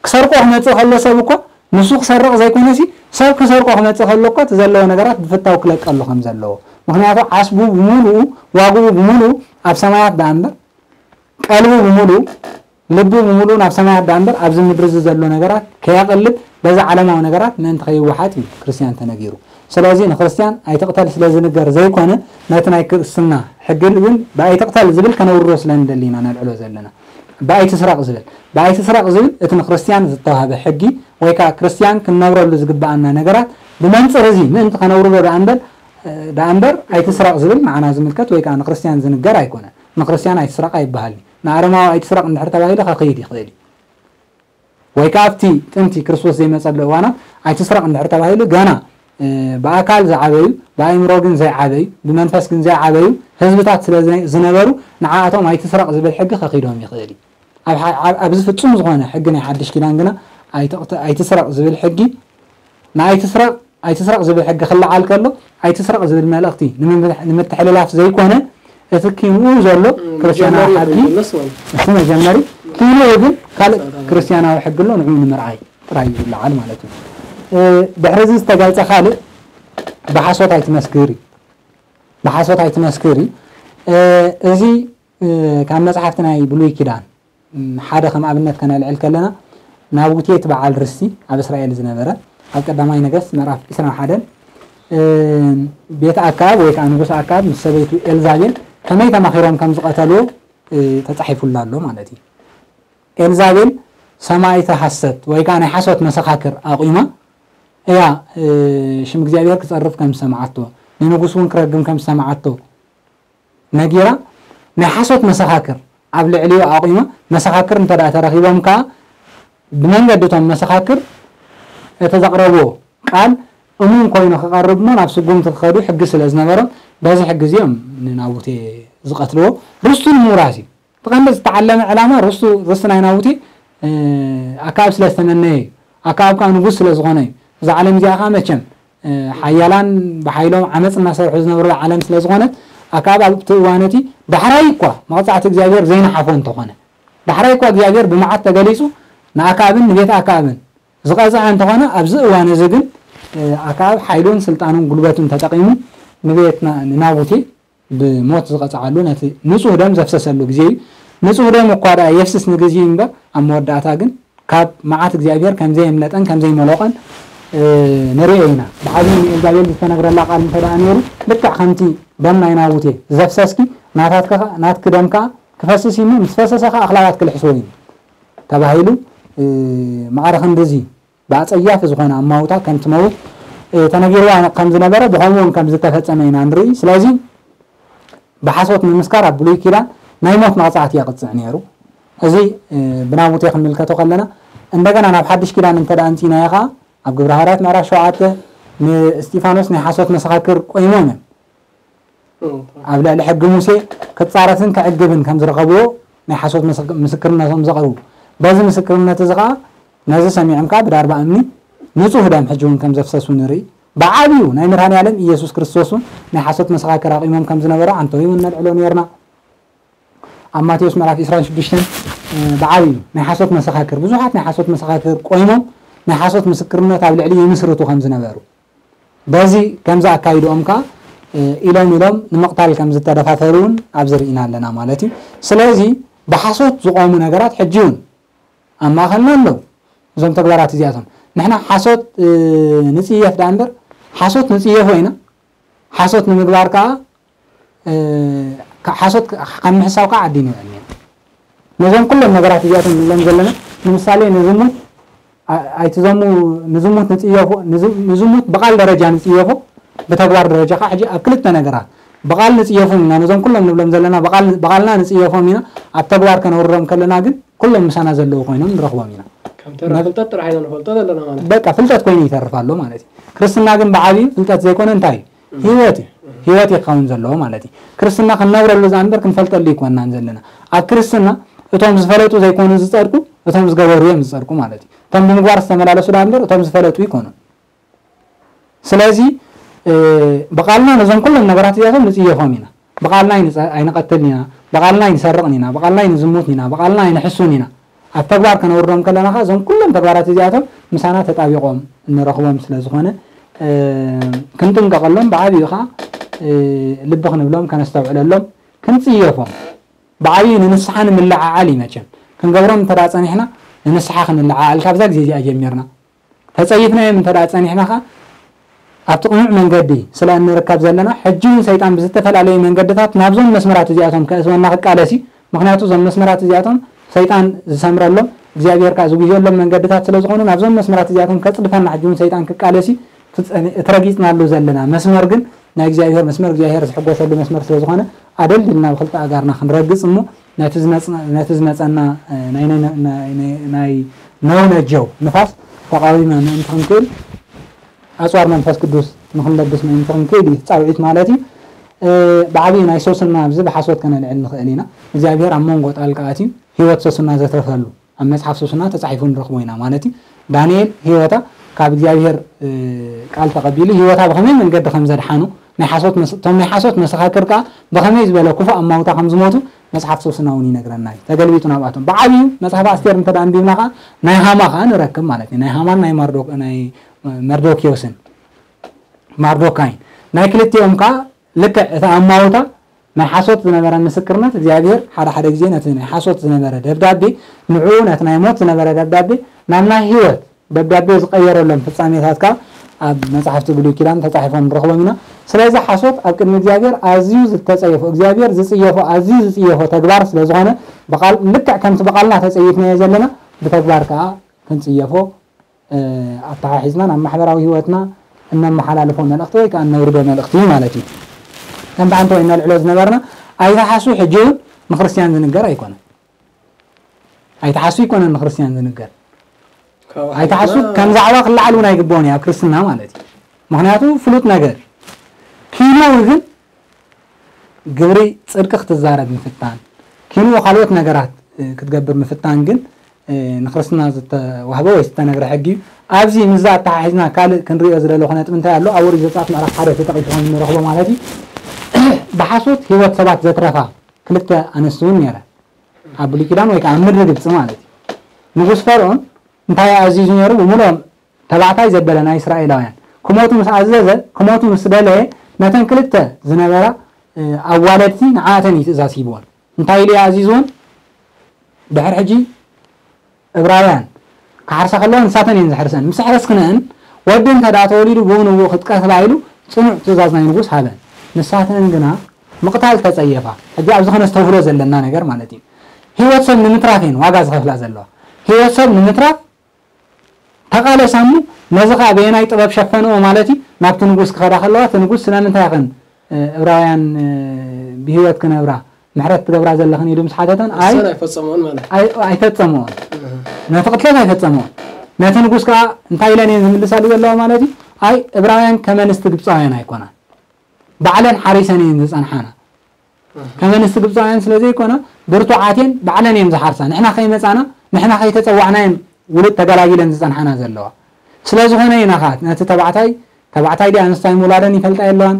ክሰርቆ ክመጽእ ከሎ ሰብ እኮ ንሱ ክሰርቕ ዘይኮነሲ ሰብ ክሰርቆ ክመጽእ ከሎ እኮ እቲ ዘለዎ ነገራት ብፍታው ክለቀሉ ከም ዘለዎ። ምኽንያቱ ዓስቡ ብምሉኡ ዋግኡ ብምሉኡ ኣብ ሰማያት ደኣ እምበር፣ ቀልቡ ብምሉኡ ልቡ ብምሉኡ ናብ ሰማያት ደኣ እምበር ኣብዚ ምድሪ እዚ ዘሎ ነገራት ከየቕልብ በዚ ዓለማዊ ነገራት ምእንቲ ከይወሓጥ እዩ ክርስትያን ተነጊሩ። ስለዚ ንክርስትያን ኣይትቕተል ስለ ዝንገር ዘይኮነ ነቲ ናይ ክርስትና ሕጊ ግን ብኣይትቕተል ዝብል ከነውርዶ ስለ ንደሊ ኢና ነልዕሎ ዘለና። ብኣይትስረቕ ዝብል ብኣይትስረቕ ዝብል እቲ ንክርስትያን ዝተዋህበ ሕጊ ወይ ከዓ ክርስትያን ክንነብረሉ ዝግብኣና ነገራት ብመንፅር እዚ ምእንቲ ከነውርዶ ደኣ እምበር ደኣ እምበር ኣይትስረቕ ዝብል ንዓና ዝምልከት ወይ ከዓ ንክርስትያን ዝንገር ኣይኮነን። ንክርስትያን ኣይትስረቕ ኣይበሃልን። ንኣረማዊ ኣይትስረቕ እንድሕር ተባሂሉ ከኽይድ ይኽእል እዩ። ወይ ከዓ ኣብቲ ጥንቲ ክርስቶስ ዘይመፀሉ እዋናት ኣይትስረቕ እንድሕር ተባሂሉ ገና ብኣካል ዝዓበዩ ብኣእምሮ ግን ዘይዓበዩ ብመንፈስ ግን ዘይዓበዩ ህዝብታት ስለ ዝነበሩ ንዓኣቶም ኣይትስረቕ ዝብል ሕጊ ከኺዶም ይኽእል እዩ። ኣብዚ ፍፁም ዝኾነ ሕጊ ናይ ሓድሽ ኪዳን ግና ኣይትስረቕ ዝብል ሕጊ ንኣይትስረቕ ኣይትስረቕ ዝብል ሕጊ ክለዓል ከሎ ኣይትስረቕ ዝብል መልእኽቲ ንምትሕልላፍ ዘይኮነ እቲ ኪንኡ ዘሎ ክርስትያናዊ ሓቂ እቲ መጀመሪ ኪንኡ ግን ካልእ ክርስትያናዊ ሕጊ ኣሎ ንዕኡ ንምርኣይ ጥራይ እዩ ዝለዓል ማለት እዩ። ድሕሪ እዚ ዝተገልፀ ካልእ ብሓሶት ኣይትመስክር እዩ። ብሓሶት ኣይትመስክር እዩ። እዚ ካብ መፅሓፍቲ ናይ ብሉይ ኪዳን ሓደ ከም ኣብነት ከነልዕል ከለና ናቡቴ እቲ በዓል ርስቲ ኣብ እስራኤል ዝነበረ ኣብ ቀዳማይ ነገስት ምዕራፍ ዕስራን ሓደን ቤት ኣካብ ወይ ከዓ ንጉስ ኣካብ ምስ ሰበይቱ ኤልዛቤል ከመይ ተማኺሮም ከም ዝቐተልዎ ተፃሒፉላ ኣሎ ማለት እዩ። ኤልዛቤል ሰማይተ ሐሰት ወይ ከዓ ናይ ሓሶት መሰኻክር ኣቑማ እያ ሽም እግዚኣብሔር ክፀርፍ ከም ዝሰምዓቶ ንንጉስ እውን ክረግም ከም ዝሰምዓቶ ነጊራ ናይ ሓሶት መሰኻክር ኣብ ልዕሊኡ ኣቑማ መሰኻክር እንተ ደኣ ተረኺቦም ከዓ ብመንገዲ እቶም መሰኻክር እቲ ዘቕረብዎ ቃል እሙን ኮይኑ ክቐርብ እሞ ናብ ስጉምቲ ክኸዱ ሕጊ ስለ ዝነበሮም በዚ ሕጊ እዚኦም ንናቡቴ ዝቐትልዎ ርስቱ ንምውራስ እዩ። እቲ ቀንዲ ዝተዓለመ ዕላማ ርስቱ ርስቲ ናይ ናቡቴ ኣካብ ስለ ዝተመነየ እዩ። ኣካብ ከዓ ንጉስ ስለ ዝኾነ እዩ። እዛ ዓለም እዚኣ ከዓ መቸም ሓያላን ብሓይሎም ዓመፅ እናሰርሑ ዝነብሩላ ዓለም ስለ ዝኾነት ኣካብ ኣብቲ እዋን እቲ ዳሕራይ እኳ መቕፃዕቲ እግዚኣብሔር ዘይነሓፎ እንተኾነ ዳሕራይ እኳ እግዚኣብሔር ብመዓት ተገሊፁ ንኣካብን ንቤት ኣካብን ዝቐፅዐ እንተኾነ ኣብዚ እዋን እዚ ግን ኣካብ ሓይሉን ስልጣኑን ጉልበቱን ተጠቒሙ ንቤት ንናቡቴ ብሞት ዝቐፅዓሉ ነቲ ንፁህ ደም ዘፍሰሰሉ ግዜ እዩ። ንፁህ ደም እኳ ደኣ የፍስስ ንግዜ እዩ እምበር ኣብ መወዳእታ ግን ካብ መዓት እግዚኣብሔር ከምዘየምለጠን ከምዘይመለቖን ንርእዮ ኢና። ብዓብዪ ንኤልዛቤል ዝተነግረላ ቃል እንተ ደኣ ነይሩ ልክዕ ከምቲ ደም ናይ ናቡቴ ዘፍሰስኪ ናታትኪ ናትኪ ደም ከዓ ክፈስስ እዩ ምስ ፈሰሰ ከዓ ኣኽላባት ክልሕስዎ እዩ ተባሂሉ ማዕረ ክንድዚ ብኣፀያፊ ዝኾነ ኣማውታ ከም ትመውት ተነጊርዋ ከም ዝነበረ ብኸምኡ እውን ከም ዝተፈፀመ ኢና ንርኢ። ስለዚ ብሓሶት ምምስካር ኣብ ብሉይ ኪዳን ናይ ሞት መቕፃዕቲ የቕፅዕ ነይሩ። እዚ ብናቡቴ ክንምልከቶ ከለና እንደገና ናብ ሓድሽ ኪዳን እንተ ደኣ ኣምፂእናዮ ከዓ ኣብ ግብረ ሃዋርያት ምዕራፍ ሸውዓተ ንእስጢፋኖስ ናይ ሓሶት መሰኻክር ቆይሞም እዮም። ኣብ ልዕሊ ሕጊ ሙሴ ክፃረፍን ክዕግብን ከም ዝረኸብዎ ናይ ሓሶት ምስክርነቶም ዘቕርቡ በዚ ምስክርነት እዚ ከዓ ነዚ ሰሚዖም ከዓ ብዳርባ እምኒ ንፁህ ደም ሕጂ እውን ከም ዘፍሰሱ ንርኢ። ብዓብዩ ናይ መድሃኒ ዓለም ኢየሱስ ክርስቶስ እውን ናይ ሓሶት መሰኻክር ኣቂሞም ከም ዝነበሩ ዓንተው እውን ነልዕሎ ነርና። ኣብ ማቴዎስ ምዕራፍ ዕስራን ሽዱሽተን ብዓብዩ ናይ ሓሶት መሰኻክር ብዙሓት ናይ ሓሶት መሰኻክር ቆይሞም ናይ ሓሶት ምስክርነት ኣብ ልዕሊ ይምስርቱ ከም ዝነበሩ በዚ ከምዚ ኣካይድኦም ከዓ ኢሎም ኢሎም ንምቕታል ከም ዝተደፋፈሩ እውን ኣብዚ ርኢና ኣለና ማለት እዩ። ስለዚ ብሓሶት ዝቆሙ ነገራት ሕጂ እውን ኣብ ማእኸልና ኣለዉ። እዞም ተግባራት እዚኣቶም ንሕና ሓሶት ንፅየፍ ደኣ እምበር ሓሶት ንፅየፎ ኢና። ሓሶት ንምግባር ከዓ ሓሶት ካብ ምሕሳው ከዓ ዓዲ ንውዕል ኢና። ነዞም ኩሎም ነገራት እዚኣቶም ንብሎም ዘለና ንምሳሌ ንዝሙት ኣይትዘሙ ንዝሙት ንፅየፎ ንዝሙት ብቃል ደረጃ ንፅየፎ ብተግባር ደረጃ ከዓ ሕጂ ኣብ ክልተ ነገራት ብቃል ንፅየፎም ኢና። ነዞም ኩሎም ንብሎም ዘለና ብቃልና ንፅየፎም ኢና። ኣብ ተግባር ከነውርዶም ከለና ግን ኩሎም ምሳና ዘለዉ ኮይኖም ንረኽቦም ኢና። ከምተራ ፍልጠት ጥራሕ ኢና ንፈልጦ ዘለና ማለት በቃ ፍልጠት ኮይኑ ይተርፍ ኣሎ ማለት እዩ። ክርስትና ግን ብዓብዩ ፍልጠት ዘይኮነ እንታይ እዩ? ህይወት እዩ። ህይወት እዩ ክኸውን ዘለዎ ማለት እዩ። ክርስትና ክንነብረሉ እዛ እምበር ክንፈልጠሉ ይኮንናን ዘለና። ኣብ ክርስትና እቶም ዝፈለጡ ዘይኮኑ ዝፀድቁ እቶም ዝገበሩ እዮም ዝፀድቁ ማለት እዩ። እቶም ብምግባር ዝተመላለሱ ዳ እምበር እቶም ዝፈለጡ ይኮኑ። ስለዚ ብቃልና ነዞም ኩሎም ነገራት እዚኣቶም ንፅየፎም ኢና። ብቃልና ኣይንቐትልን ኢና፣ ብቃልና ኣይንሰርቕን ኢና፣ ብቃልና ኣይንዝሙትን ኢና፣ ብቃልና ኣይንሕሱን ኢና። ኣብ ተግባር ከነውርዶም ከለና ከ እዞም ኩሎም ተግባራት እዚኣቶም ምሳና ተጣቢቖም እንረኽቦም ስለ ዝኾነ ክንጥንቀቐሎም፣ ብዓብዩ ኸዓ ልቢ ክንብሎም፣ ከነስተውዕለሎም፣ ክንጽየፎም፣ ብዓብዩ ንንስሓ ንምልዓዓል እዩ። መቸም ክንገብሮም እንተ ጸኒሕና ንንስሓ ክንልዓዓል ካብዛ ግዜ እዚኣ ጀሚርና ተጸይፍናዮም እንተ ጸኒሕና ኸዓ ኣብቲ ቅኑዕ መንገዲ ስለ እንርከብ ዘለና፣ ሕጂ እውን ሰይጣን ብዝተፈላለዩ መንገድታት ናብዞም መስመራት እዚኣቶም ከእትወና ክቃለስ እዩ። ምኽንያቱ እዞም መስመራት እዚኣቶም ሰይጣን ዝሰምረሎም እግዚኣብሔር ከኣ ዝጉህየሎም መንገድታት ስለ ዝኾኑ ናብዞም መስመራት እዚኣቶም ከጽድፈና ሕጂ እውን ሰይጣን ክቃለስ እዩ። እቲ ረጊጽናሉ ዘለና መስመር ግን ናይ እግዚኣብሔር መስመር እግዚኣብሔር ዝሕጎሰሉ መስመር ስለ ዝኾነ ኣደልድልና ብክልተ ኣጋርና ክንረግጽ እሞ ነቲ ዝመጸና ናይ ነውነጀው ንፋስ ተቃዊመ ምእንቲ ክንክእል ኣፅዋር መንፈስ ቅዱስ ንክንለብስ ምእንቲ ክንክእል እዩ ፃውዒት ማለት እዩ። ብዓብዩ ናይ ሶስና ኣብዚ ብሓሶት ከነልዕል ንኽእል ኢና። እግዚኣብሔር ኣብ መንጎ ጣልቃ ኣትዩ ህይወት ሶስና ዘትረፈሉ ኣብ መፅሓፍ ሶስና ተፃሒፉ ንረኽቦ ኢና ማለት እዩ። ዳንኤል ህይወታ ካብ እግዚኣብሔር ቃል ተቐቢሉ ህይወታ ብኸመይ መንገዲ ከም ዘድሓኑ ናይ ሓሶት መስ- እቶም ናይ ሓሶት መሰኻክር ከኣ ብኸመይ ዝበለ ክፉእ ኣማውታ ከም ዝሞቱ መጽሓፍ ሶስና እውን ይነግረና እዩ። ተገልቢጡ ናብኣቶም ብዓብዩ መጽሓፍ ኣስቴር እንተ ደኣ ኣንቢብና ከኣ ናይ ሃማ ከኣ ንረክብ ማለት እዩ። ናይ ሃማን ናይ ማርዶ- ናይ መርዶክዮስን ማርዶካይን ናይ ክልቲኦም ከኣ ልክዕ እቲ ኣማውታ ናይ ሓሶት ዝነበረ ምስክርነት እግዚኣብሔር ሓደ ሓደ ግዜ ነቲ ናይ ሓሶት ዝነበረ ደብዳቤ ንዕኡ ነቲ ናይ ሞት ዝነበረ ደብዳቤ ናብ ናይ ህይወት ደብዳቤ ዝቐየረሎም ፍጻሜታት ከኣ ኣብ መጻሕፍቲ ብሉይ ኪዳን ተጻሒፎም ንረኽቦም ኢና። ስለዚ ሓሶት ኣብ ቅድሚ እግዚኣብሔር ኣዝዩ ዝተጸየፎ እግዚኣብሔር ዝጽየፎ ኣዝዩ ዝጽየፎ ተግባር ስለ ዝኾነ ብቓል ልክዕ ከምቲ ብቓልና ተጸይፍናዮ ዘለና ብተግባር ከኣ ክንጽየፎ ኣተሓሒዝና ናብ ማሕበራዊ ህይወትና እነመሓላልፎ መልእኽቲ ወይ ከኣ እነውርዶ መልእኽቲ እዩ ማለት እዩ። ከም ብሓንቲ ወይ እነልዕሎ ዝነበርና ኣይትሓሱ ሕጂ እውን ንክርስትያን ዝንገር ኣይኮነን። ኣይትሓሱ ኣይኮነን ንክርስትያን ዝንገር። ኣይትሓሱ ከም ዛዕባ ክለዓል እውን ኣይግብኦን እዩ ኣብ ክርስትና ማለት እዩ። ምክንያቱ ፍሉጥ ነገር እዩ። ኪንኡ ግን ግብሪ ጽድቂ ክትዛረብ ምፍታን፣ ኪንኡ ካልኦት ነገራት ክትገብር ምፍታን ግን ንክርስትና ዝተዋህበ ወይ ዝተነግረ ሕጊ እዩ። ኣብዚ ምስዛ ኣተሓሒዝና ካልእ ክንሪኦ ዝደለኹ ነጥቢ እንታይ ኣሎ? ኣብ ኦሪት ዘጸኣት ምዕራፍ ሓደ ተጠቒሱ ከም እንረኽቦ ማለት እዩ። ብሓሶት ህይወት ሰባት ዘትረፋ ክልተ ኣንስቲ እውን ነይረን። ኣብ ብሉይ ኪዳን ወይ ከዓ ኣብ ምድሪ ግብፂ ማለት እዩ። ንጉስ ፈርዖን እንታይ ኣዚዙ ነይሩ? ብምሉኦም ተባዕታይ ዘበለ ናይ እስራኤላውያን ክሞቱ ምስ ኣዘዘ፣ ክሞቱ ምስ ደለየ፣ ነተን ክልተ ዝነበራ ኣዋለድቲ ንዓኣተን እዩ ትእዛዝ ሂብዎን። እንታይ ኢሉ እዩ ኣዚዝዎን? ድሕሪ ሕጂ እብራውያን ክሓርሳ ከለዋ ንሳተን እየን ዝሕርሰን። ምስ ኣሕረስክነን ወዲ እንተ ደኣ ተወሊዱ ብኡ ንብኡ ክትቀትላ ኢሉ ጽኑዕ ትእዛዝ ናይ ንጉስ ሃበን። ንሳተን ግና ምቕታል ተጸየፋ። ሕጂ ኣብዚ ከነስተብህሎ ዘለና ነገር ማለት እዩ። ህይወት ሰብ ንምትራፍ እየን ዋጋ ዝኸፍላ ዘለዋ። ህይወት ሰብ ንምትራፍ ተቓለሳ እሞ ነዚ ኸኣ በየናይ ጥበብ ሸፈንኦ ማለት እዩ? ናብቲ ንጉስ ክኸዳ ከለዋ እቲ ንጉስ ስለምንታይ ኢኽን እብራውያን ብህይወት ክነብራ ምሕረት ትገብራ ዘለኽን ኢሉ ምስ ሓተተን ኣይ ንሰን ኣይፈጸምኦን ማለት። ኣይ- ኣይፈጸምኦን። ነቲ ቅትለት ኣይፈጸምኦን። ነቲ ንጉስ ከኣ እንታይ ኢለን እየን ዝምልሳሉ ዘለዋ ማለት እዩ? ኣይ እብራውያን ከም ኣንስቲ ግብፃውያን ኣይኮናን። ባዕለን ሓሪሰን እየን ዝጸንሓና። ከም ኣንስቲ ግብፃውያን ስለ ዘይኮና ብርቱዓት እየን፣ ባዕለን እየን ዝሓርሳ። ንሕና ከይመጻና ንሕና ከይተጸዋዕና እየን ውሉድ ተገላጊለን ዝጸንሓና ዘለዋ። ስለ ዝኾነ ኢና ኸዓ ነቲ ተባዕታይ ተባዕታይ ድያ ኣንስታይ ምውላደን ይፈልጣ የለዋን።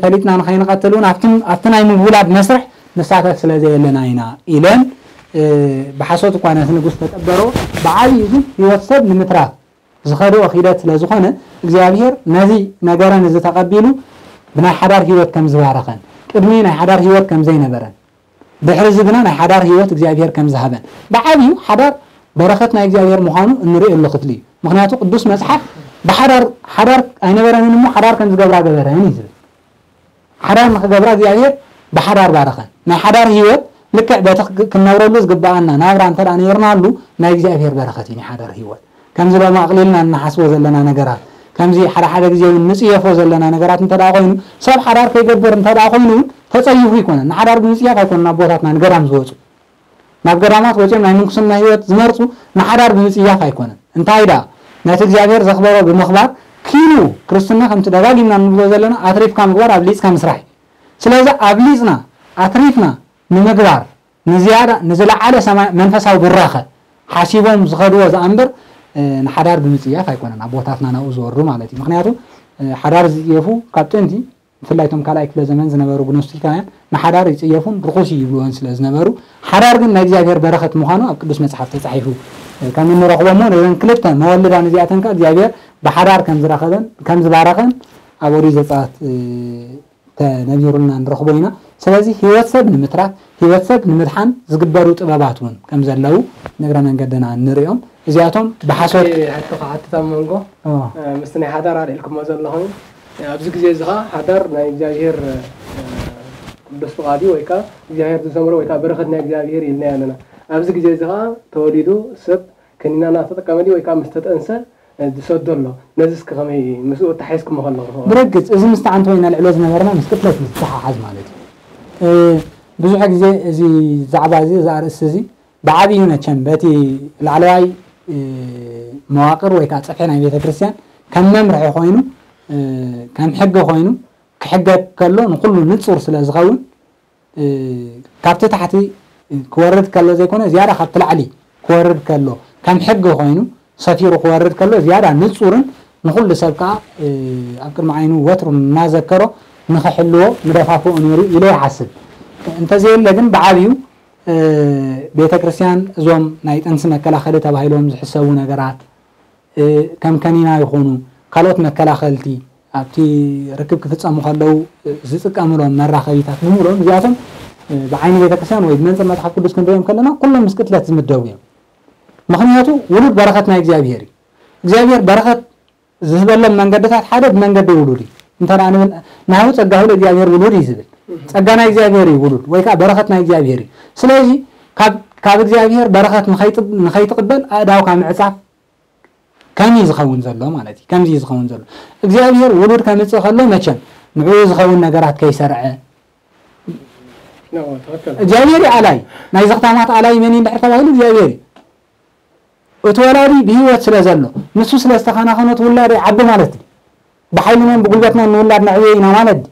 ፈሊጥና ንኸይንቐትል እውን ኣብቲ ናይ ምውላድ መስርሕ ንሳተፍ ስለ ዘየለና ኢና ኢለን ብሓሶት እኳ ነቲ ንጉስ ተጠበሮ። ብዓብዩ ግን ህይወት ሰብ ንምትራፍ ዝኸድኦ ኺደት ስለ ዝኾነ እግዚኣብሔር ነዚ ነገረን እዚ ተቐቢሉ ብናይ ሓዳር ህይወት ከም ዝባረኸን ቅድሚ ናይ ሓዳር ህይወት ከም ዘይነበረን ድሕሪ እዚ ግና ናይ ሓዳር ህይወት እግዚኣብሔር ከም ዝሃበን ብዓብዩ ሓዳር በረኸት ናይ እግዚኣብሔር ምዃኑ እንርእየሉ ክፍሊ እዩ። ምኽንያቱ ቅዱስ መጽሓፍ ብሓዳር ሓዳር ኣይነበረንን እሞ ሓዳር ከም ዝገብራ ገበረን እዩ ዝብል። ሓዳር ንኽገብራ እግዚኣብሔር ብሓዳር ባረኸን። ናይ ሓዳር ህይወት ልክዕ በቲ ክንነብረሉ ዝግብኣና ናብራ እንተ ደኣ ነይርናሉ ናይ እግዚኣብሔር በረኸት እዩ ናይ ሓዳር ህይወት። ከምዚ ሎሚ ኣቕሊልና እንሓስቦ ዘለና ነገራት ከምዚ ሓደ ሓደ ግዜ እውን ንፅየፎ ዘለና ነገራት እንተ ደኣ ኮይኑ ሰብ ሓዳር ከይገብር እንተ ደኣ ኮይኑ እውን ተፀይፉ ኣይኮነን። ንሓዳር ብምፅያፍ ኣይኮነን ኣቦታትና ንገዳም ዝወፁ። ናብ ገዳማት ወፂኦም ናይ ምንኩስና ህይወት ዝመርፁ ንሓዳር ብምፅያፍ ኣይኮነን። እንታይ ደኣ ነቲ እግዚኣብሔር ዘኽበሮ ብምኽባር ኪኑ ክርስትና ከምቲ ደጋጊምና እንብሎ ዘለና ኣትሪፍካ ምግባር ኣብሊፅካ ምስራሕ እዩ። ስለዚ ኣብሊፅና ኣትሪፍና ንምግባር ንዝያዳ ንዝለዓለ ሰማይ መንፈሳዊ ብራኸ ሓሲቦም ዝኸድዎ ዝኣምበር ንሓዳር ብምፅያፍ ኣይኮነን ኣቦታትና ናብኡ ዝወርዱ ማለት እዩ። ምክንያቱ ሓዳር ዝፅየፉ ካብ ጥንቲ ብፍላይ እቶም ካልኣይ ክፍለ ዘመን ዝነበሩ ግኖስቲካውያን ንሓዳር ይጽየፉን ርኹስ እዩ ይብልዎን ስለ ዝነበሩ፣ ሓዳር ግን ናይ እግዚኣብሔር በረኸት ምዃኑ ኣብ ቅዱስ መጽሓፍ ተጻሒፉ ከም እንረኽቦ እሞ፣ ነዘን ክልተ መወልዳን እዚኣተን ከኣ እግዚኣብሔር ብሓዳር ከም ዝረኸበን ከም ዝባረኸን ኣብ ኦሪት ዘጸኣት፣ እ፣ ተነቢሩልና ንረኽቦ ኢና። ስለዚ ህይወት ሰብ ንምትራፍ፣ ህይወት ሰብ ንምድሓን ዝግበሩ ጥበባት እውን ከም ዘለዉ ንእግረ መንገድና ንሪኦም። እዚኣቶም ብሓሶት እቲ ሕቶ ክሓትት ኣብ መንጎ፣ ኦ። እ፣ ምስቲ ናይ ሓዳር ኣልዒልኩሞ ዘለኹም፣ ኣብዚ ግዜ እዚ ኸዓ ሓዳር ናይ እግዚኣብሔር፣ እ፣ ቅዱስ ፍቓድ እዩ፣ ወይ ከዓ እግዚኣብሔር ዝሰመሮ፣ ወይ ከዓ በረኸት ናይ እግዚኣብሔር ኢልና ኣለና። ኣብዚ ግዜ እዚ ኸዓ ተወሊዱ ሰብ ከኒና እናተጠቀመ ድዩ፣ ወይ ከዓ ምስ ተጠንሰ፣ እ፣ ዝሰዶ ኣሎ? ነዚ እስኪ ከመይ ምስኡ ኣተሓሒዝኩሞ ከለኹም? ብርግጽ፣ እዚ ምስቲ ዓንተ ወይኒ ነልዕሎ ዝነበርና ምስ ቅትለት ምስ ዝተሓሓዝ ማለት እዩ። እ፣ ብዙሕ ግዜ እዚ ዛዕባ እዚ፣ እዚ ኣርእስቲ እዚ ብዓብዩ መቸም በቲ ላዕለዋይ፣ እ፣ መዋቅር ወይ ከዓ ጽፍሒ ናይ ቤተ ክርስቲያን ከም መምርሒ ኮይኑ፣ እ፣ ከም ሕጊ ኮይኑ ክሕገግ ከሎ ንኹሉ ንጹር ስለ ዝኸውን፣ እ፣ ካብቲ ታሕቲ ክወርድ ከሎ ዘይኮነ፣ ዝያዳ ካብቲ ላዕሊ ክወርድ ከሎ፣ ከም ሕጊ ኮይኑ ሰፊሩ ክወርድ ከሎ፣ ዝያዳ ንጹርን ንኹሉ ሰብ ከኣ፣ እ፣ ኣብ ቅድሚ ዓይኑ ወትሩ እናዘከሮ ንኽሕልዎ ምደፋፍኦ ነይሩ ኢለ ይሓስብ። እንተዘየለ ግን ብዓብዩ፣ እ፣ ቤተ ክርስቲያን እዞም ናይ ጥንሲ መከላኸሊ ተባሂሎም ዝሕሰቡ ነገራት፣ እ፣ ከም ከኒና ይኹኑ ካልኦት መከላኸልቲ ኣብቲ ርክብ ክፍጸሙ ከለዉ፣ እ፣ ዝጥቀምሎም መራኸቢታት ብምሉኦም እዚኣቶም፣ እ፣ ብዓይኒ ቤተ ክርስቲያን ወይ ብመንጽር መጽሓፍ ቅዱስ ክንሪኦም ከለና ኩሎም ምስ ቅትለት ዝምደቡ እዮም። ምኽንያቱ ውሉድ በረኸት ናይ እግዚኣብሔር እዩ። እግዚኣብሔር በረኸት ዝህበሎም መንገድታት ሓደ ብመንገዲ ውሉድ እዩ። እንተ ደኣ ንብል፣ ናሁ ጸጋሁ ለእግዚኣብሔር ውሉድ እዩ ዝብል። ጸጋ ናይ እግዚኣብሔር እዩ ውሉድ፣ ወይ ከኣ በረኸት ናይ እግዚኣብሔር እዩ። ስለዚ ካብ፣ ካብ እግዚኣብሔር በረኸት ንኸይጥ-፣ ንኸይትቕበል ኣእዳውካ ምዕጻፍ ከም እዩ ዝኸውን ዘሎ ማለት እዩ። ከምዚ እዩ ዝኸውን ዘሎ። እግዚኣብሔር ውሉድ ከምጽእ ከሎ መቸም ንዕኡ ዝኸውን ነገራት ከይሰርዐ፣ ኖ፣ ትኽክል። እግዚኣብሔር እዩ ኣላይ። ናይ ዘኽታማት ኣላይ መን እዩ እንድሕር ተባሂሉ እግዚኣብሔር እዩ። እቲ ወላዲ ብህይወት ስለ ዘሎ፣ ንሱ ስለ ዝተኸናኸኖ እቲ ውላድ ይዓቢ ማለት እዩ። ብሓይልናን ብጉልበትናን ንውላድ ነዕብዮ ኢና ማለት ድዩ?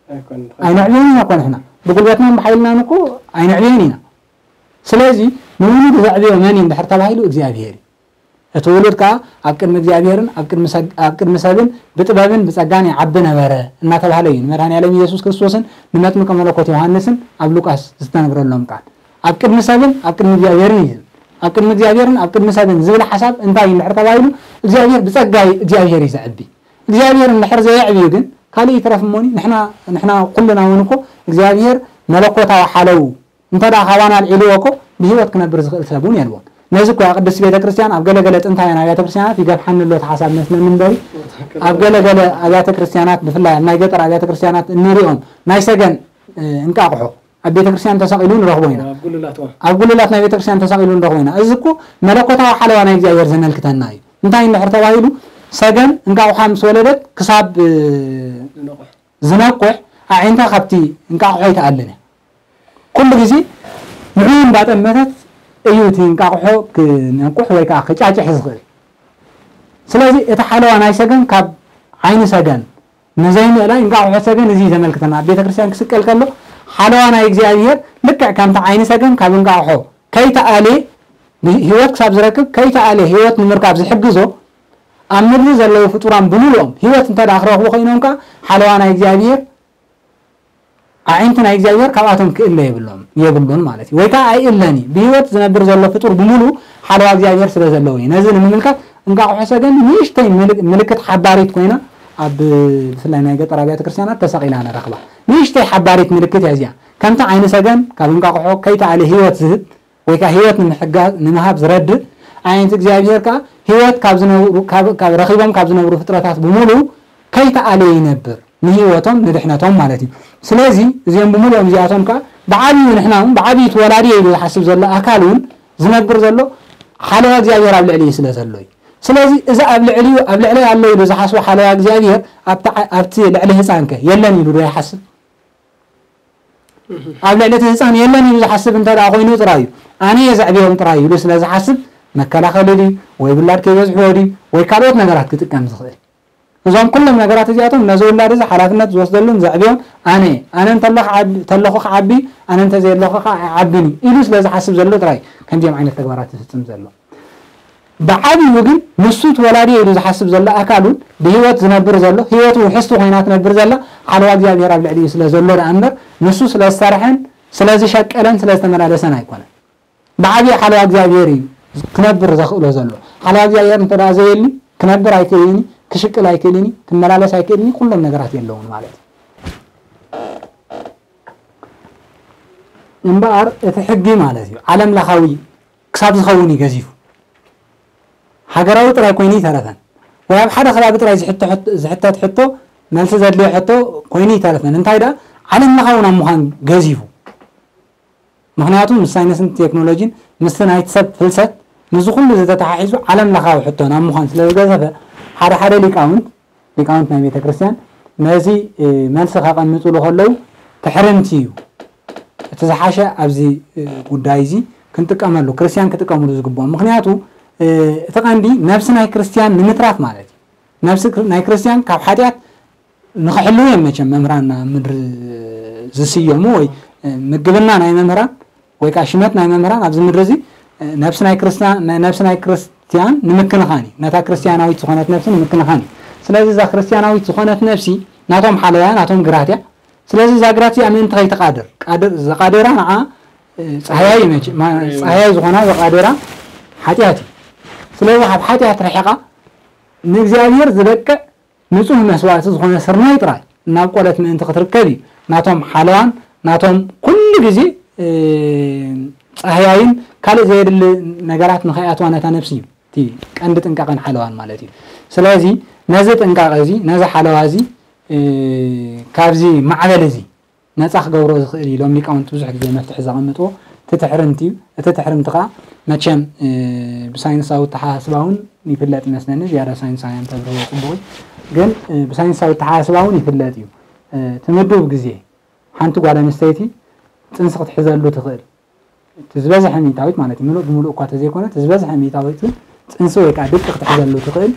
ኣይኮነን። ኣይነዕብዮን ኢና እኮ ንሕና። ብጉልበትናን ብሓይልናን እኮ ኣይነዕብዮን ኢና። ስለዚ ንውሉድ ዘዕብዮ መን እዩ እንድሕር ተባሂሉ እግዚኣብሔር እዩ። እቲ ውሉድ ከኣ ኣብ ቅድሚ እግዚኣብሔርን ኣብ ቅድሚ ሰግ-፣ ኣብ ቅድሚ ሰብን ብጥበብን ብጸጋን ይዓቢ ነበረ እናተባህለ እዩ ንመድኃኔ ዓለም ኢየሱስ ክርስቶስን ንመጥምቀ መለኮት ዮሐንስን ኣብ ሉቃስ ዝተነግረሎም ቃል። ኣብ ቅድሚ ሰብን ኣብ ቅድሚ እግዚኣብሔርን እዩ ዝብል። ኣብ ቅድሚ እግዚኣብሔርን ኣብ ቅድሚ ሰብን ዝብል ሓሳብ እንታይ እዩ እንድሕር ተባሂሉ፣ እግዚኣብሔር ብጸጋ እዩ እግዚኣብሔር እዩ ዘዕቢ። እግዚኣብሔር እንድሕር ዘየዕብዩ ግን ካልእ ይትረፍ እሞኒ ንሕና፣ ንሕና ኩልና እውን እኮ እግዚኣብሔር መለኮታዊ ሓለዉ እንተ ደኣ ካባና ኣልዒልዎ እኮ ብህይወት ክነብር ዝኽእል ሰብ እውን የልቦን። ነዚ እኮ እያ ቅድስት ቤተ ክርስቲያን ኣብ ገለ ገለ ጥንታውያን ኣብያተ ክርስቲያናት ይገፍሓኒ ኣሎ እቲ ሓሳብ መስለኒ እምበሪ፣ ኣብ ገለ ገለ ኣብያተ ክርስቲያናት ብፍላይ ኣብ ናይ ገጠር ኣብያተ ክርስቲያናት እንሪኦም ናይ ሰገን፣ እ፣ እንቃቕሖ ኣብ ቤተ ክርስቲያን ተሰቒሉ ንረኽቦ ኢና። ኣብ ጉልላት፣ ዋ። ኣብ ጉልላት ናይ ቤተ ክርስቲያን ተሰቒሉ ንረኽቦ ኢና። እዚ እኮ መለኮታዊ ሓለዋ ናይ እግዚኣብሔር ዘመልክተና እዩ። እንታይ እንድሕር ተባሂሉ ሰገን እንቃቑሓ ምስ ወለደት ክሳብ፣ እ፣ ዝነቑሕ። ዝነቁሕ ኣዒንታ ካብቲ እንቃቑሖ ኣይትኣልን እያ። ኩሉ ግዜ ንዕኡ እንዳጠመተት እዩ እቲ እንቃቑሖ ክነቁሕ ወይ ከዓ ክጫጭሕ ዝኽእል። ስለዚ እቲ ሓለዋ ናይ ሰገን ካብ ዓይኒ ሰገን ንዘይምእላይ እንቃቑሖ ሰገን እዚ እዩ ዘመልክተና። ኣብ ቤተ ክርስቲያን ክስቀል ከሎ ሓለዋ ናይ እግዚኣብሔር ልክዕ ከምቲ ዓይኒ ሰገን ካብ እንቃቑሖ ከይተኣልየ፣ ህይወት ክሳብ ዝረክብ ከይተኣልየ ህይወት ንምርካብ ዝሕግዞ ኣብ ምድሪ ዘለዉ ፍጡራን ብምሉኦም ህይወት እንተ ደኣ ክረኽቡ ኮይኖም ከኣ ሓለዋ ናይ እግዚኣብሔር ኣዒንቲ ናይ እግዚኣብሔር ካብኣቶም ክእለ የብሎም፣ የብሉን ማለት እዩ። ወይ ከኣ ኣይእለን እዩ። ብህይወት ዝነብር ዘሎ ፍጡር ብምሉኡ ሓለዋ እግዚኣብሔር ስለ ዘለዎ እዩ። ነዚ ንምምልካት እንቃቑሖ ሰገን ንእሽተይ ምልክ-፣ ምልክት ሓባሪት ኮይና ኣብ ብፍላይ ናይ ገጠር ኣብያተ ክርስቲያናት ተሰቒላ ንረኽባ። ንእሽተይ ሓባሪት ምልክት እያ እዚኣ። ከምቲ ዓይኒ ሰገን ካብ እንቃቑሖ ከይተኣለ ህይወት ዝህብ ወይ ከኣ ህይወት ንምሕጋ-፣ ንምሃብ ዝረድእ ኣዒንቲ እግዚኣብሔር ከኣ ህይወት ካብ ዝነብሩ፣ ካብ፣ ካብ ረኺቦም ካብ ዝነብሩ ፍጥረታት ብምሉኡ ከይተኣለ ይነብር። ንህይወቶም፣ ንድሕነቶም ማለት እዩ። ስለዚ እዚኦም ብምሉኦም እዚኣቶም ከኣ ብዓብዩ ንሕና እውን ብዓብዩ እቲ ወላዲ እየ ኢሉ ዝሓስብ ዘሎ ኣካል እውን ዝነብር ዘሎ ሓለዋ እግዚኣብሔር ኣብ ልዕሊኡ ስለ ዘሎ እዩ። ስለዚ እዚ ኣብ ልዕሊኡ፣ ኣብ ልዕለይ ኣሎ ኢሉ ዝሓስቦ ሓለዋ እግዚኣብሔር ኣብቲ ዓ-፣ ኣብቲ ልዕሊ ህፃንከ የለን ኢሉ ዶ ይሓስብ? ኣብ ልዕሊ እቲ ህፃን የለን ኢሉ ዝሓስብ እንተ ደኣ ኮይኑ ጥራይ እዩ። ኣነ እየ ዘዕብዮም ጥራይ ኢሉ ስለ ዝሓስብ መከላኸሊ ድዩ ወይ ውላድ ከይበዝሕዎ ድዩ ወይ ካልኦት ነገራት ክጥቀም ዝኽእል። እዞም ኩሎም ነገራት እዚኣቶም ነዚ ውላድ እዚ ሓላፍነት ዝወስደሉን ዘዕብዮን ኣነ እየ። ኣነ እንተሎ ክዓቢ-፣ ተለኹ ክዓቢ፣ ኣነ እንተዘየለኹ ከዓ ኣይዓብን እዩ ኢሉ ስለ ዝሓስብ ዘሎ ጥራይ ከምዚኦም ዓይነት ተግባራት ዝፍፅም ዘሎ። ብዓብዩ ግን ንሱ ተወላዲ ኢሉ ዝሓስብ ዘሎ ኣካል እውን ብህይወት ዝነብር ዘሎ፣ ህይወቱ ውሕስቲ ኮይና ትነብር ዘላ ሓለዋ እግዚኣብሔር ኣብ ልዕሊኡ ስለ ዘሎ ደኣ እምበር፣ ንሱ ስለ ዝሰርሐን ስለ ዝሸቀለን ስለ ዝተመላለሰን ኣይኮነን። ብዓብዩ ሓለዋ እግዚኣብሔር እዩ ክነብር ዘኽእሎ ዘሎ። ሓለዋ እግዚኣብሔር እንተ ደኣ ዘየሊ ክነብር ኣይክእልን እዩ፣ ክሽቅል ኣይክእልን እዩ፣ ክመላለስ ኣይክእልን እዩ፣ ኩሎም ነገራት የለውን ማለት እዩ። እምበኣር እቲ ሕጊ ማለት እዩ ዓለም ለኻዊ ክሳብ ዝኸውን እዩ ገዚፉ። ሃገራዊ ጥራይ ኮይኑ ይተረፈን፣ ወይ ኣብ ሓደ ከባቢ ጥራይ ዝሕቶ ሕቶ- ዝሕተት ሕቶ፣ መልሲ ዘድልዮ ሕቶ ኮይኑ ይተረፈን። እንታይ ደኣ ዓለም ለኻዊ ናብ ምዃን ገዚፉ። ምኽንያቱ ምስ ሳይንስን ቴክኖሎጂን ምስቲ ናይቲ ሰብ ፍልሰት ምስዚ ኩሉ ዝተተሓሒዙ ዓለም ለኻዊ ሕቶ ናብ ምዃን ስለ ዝገዘፈ፣ ሓደ ሓደ ሊቃውንት ሊቃውንት ናይ ቤተ ክርስቲያን ነዚ እ፣ መልሲ ከቐምጥሉ ከለዉ ትሕርምቲ እዩ እቲ ዝሓሸ ኣብዚ እ፣ ጉዳይ እዚ ክንጥቀመሉ፣ ክርስቲያን ክጥቀምሉ ዝግብኦም። ምኽንያቱ እ፣ እቲ ቀንዲ ነብሲ ናይ ክርስቲያን ንምትራፍ ማለት እዩ። ነብሲ ክር- ናይ ክርስቲያን ካብ ሓጢኣት ንኽሕልዉ እዮም መቸም መምህራን ምድሪ ዝስየሙ፣ ወይ እ፣ ምግብና ናይ መምህራን ወይ ከዓ ሽመት ናይ መምህራን ኣብዚ ምድሪ እዚ እ፣ ነብሲ ናይ ክርስቲያን ነብሲ ናይ ክርስቲያን ንምክንኻን እዩ። ነታ ክርስቲያናዊት ዝኾነት ነብሲ ንምክንኻን እዩ። ስለዚ እዛ ክርስቲያናዊት ዝኾነት ነብሲ ናቶም ሓለዋያ ናቶም ግራት እያ። ስለዚ እዛ ግራት እዚኣ ምእንቲ ከይትቃድር ቃድር ዘቃደራ ንዓ እ፣ ፃህያይ መች ማ- ፃህያይ ዝኾና ዘቃደራ ሓጢኣት እዩ። ስለዚ ካብ ሓጢኣት ርሒቓ ንእግዚኣብሔር ዝበቅዕ ንጹህ መስዋእቲ ዝኾነ ስርናይ ጥራይ ናብ ቆለት ምእንቲ ክትርከብ እዩ። ናቶም ሓለዋን ናቶም ኩሉ ግዜ እ፣ ጻህያይን ካልእ ዘየድሊ ነገራት ንኸይኣትዋ ነታ ነፍሲ እዩ እቲ ቀንዲ ጥንቃቐን ሓለዋን ማለት እዩ። ስለዚ ነዚ ጥንቃቐ እዚ ነዚ ሓለዋ እዚ እ፣ ካብዚ ማዕበል እዚ ነፃ ክገብሮ ዝኽእል እዩ ኢሎም ሊቃውንቲ ብዙሕ ግዜ መፍትሒ ዘቐምጥዎ እቲ ትሕርምቲ እዩ። እቲ ትሕርምቲ ከዓ መቸም እ፣ ብሳይንሳዊ ተሓሳስባ እውን ይፍለጥ ይመስለኒ። ዝያዳ ሳይንሳውያን ተብርህዎ ፅቡቕ እዩ። ግን እ፣ ብሳይንሳዊ ተሓሳስባ እውን ይፍለጥ እዩ። እ፣ እቲ ምዱብ ግዜ ሓንቲ ጓል ኣንስተይቲ ፅንሲ ክትሕዘሉ ትኽእል እቲ ዝበዝሐ ሚእታዊት ማለት እዩ፣ ምሉእ ብምሉእ እኳ ተዘይኮነ እቲ ዝበዝሐ ሚእታዊት ግን ፅንሲ ወይ ከዓ ድቂ ክትሕዘሉ ትኽእል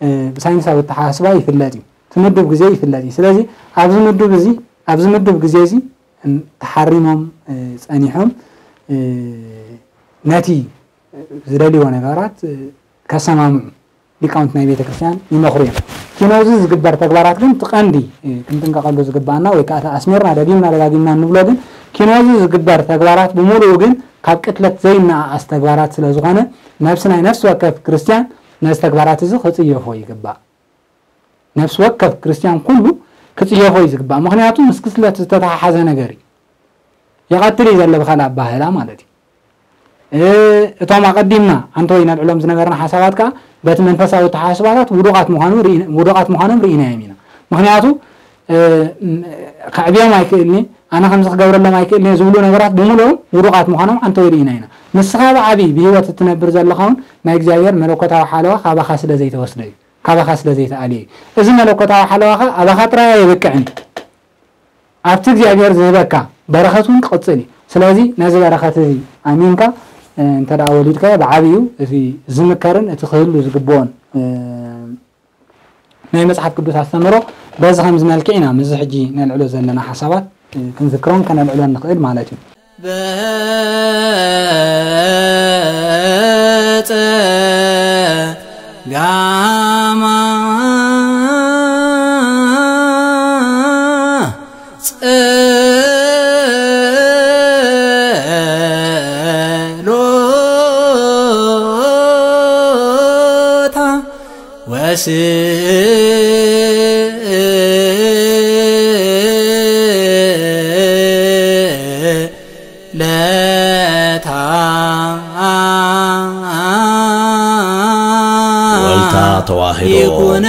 እ፣ ብሳይንሳዊ ኣተሓሳስባ ይፍለጥ እዩ። እቲ ምዱብ ግዜ ይፍለጥ እዩ። ስለዚ ኣብዚ ምዱብ እዚ ኣብዚ ምዱብ ግዜ እዚ እም፣ ተሓሪሞም እ፣ ፀኒሖም እ፣ ነቲ ዝደልይዎ ነገራት እ፣ ከሰማምዑ ሊቃውንቲ ናይ ቤተ ክርስቲያን ይመኽሩ እዮም። ኪኖዚ ዝግበር ተግባራት ግን እቲ ቀንዲ እ፣ ክንጥንቀቐሉ ዝግባኣና ወይ ከዓ እቲ ኣስሚርና ደጊምና ደጋጊምና እንብሎ ግን ኪኖዚ ዝግበር ተግባራት ብምሉኡ ግን ካብ ቅትለት ዘይነኣኣስ ተግባራት ስለ ዝኾነ ነብሲ ናይ ነፍሲ ወከፍ ክርስቲያን ነዚ ተግባራት እዚ ክጽየፎ ይግባእ። ነፍሲ ወከፍ ክርስቲያን ኩሉ ክጽየፎ እዩ ዝግባእ። ምኽንያቱ ምስ ክስለት ዝተተሓሓዘ ነገር እዩ። ይቐትል እዩ ዘሎ ብኻልእ ኣባህላ ማለት እዩ። እ፣ እቶም ኣቐዲምና ሓንቲ ወይ ነልዕሎም ዝነበርና ሓሳባት ከኣ በቲ መንፈሳዊ ኣተሓሳስባታት ውዱቓት ምዃኑ ርኢና- ውዱቓት ምዃኖም ርኢናዮም ኢና። ምኽንያቱ እ፣ ም- ከዕብዮም ኣይክእልኒ ኣነ ከምዚ ክገብረሎም ኣይክእልኒ ዝብሉ ነገራት ብምሉኦም ውዱቓት ምዃኖም ሓንቲ ወይ ርኢና ኢና። ንስኻ ብዓብዪ ብህይወት እትነብር ዘለኻ እውን ናይ እግዚኣብሔር መለኮታዊ ሓለዋ ካባኻ ስለ ዘይተወስደ እዩ። ካባኻ ስለ ዘይተኣልየ እዩ። እዚ መለኮታዊ ሓለዋኻ ኣባኻ ጥራይ ኣይበቅዕን። ኣብቲ እግዚኣብሔር ዝህበካ በረኸት እውን ክቕጽል እዩ። ስለዚ ነዚ በረኸት እዚ ኣሚንካ እ፣ እንተ ደኣ ወሊድካዮ ብዓብዩ እቲ ዝምከርን እቲ ክህሉ ዝግብኦን እ፣ ናይ መጽሓፍ ቅዱስ ኣስተምህሮ በዚ ከምዚ መልክዕ ኢና ምስዚ ሕጂ ነልዕሎ ዘለና ሓሳባት እ፣ ክንዝክሮን ከነልዕሎን ንኽእል ማለት እዩ። በጸ ጋማ ጸሎታ ወስእለታ ወልታ ተዋህዶ ይኩነ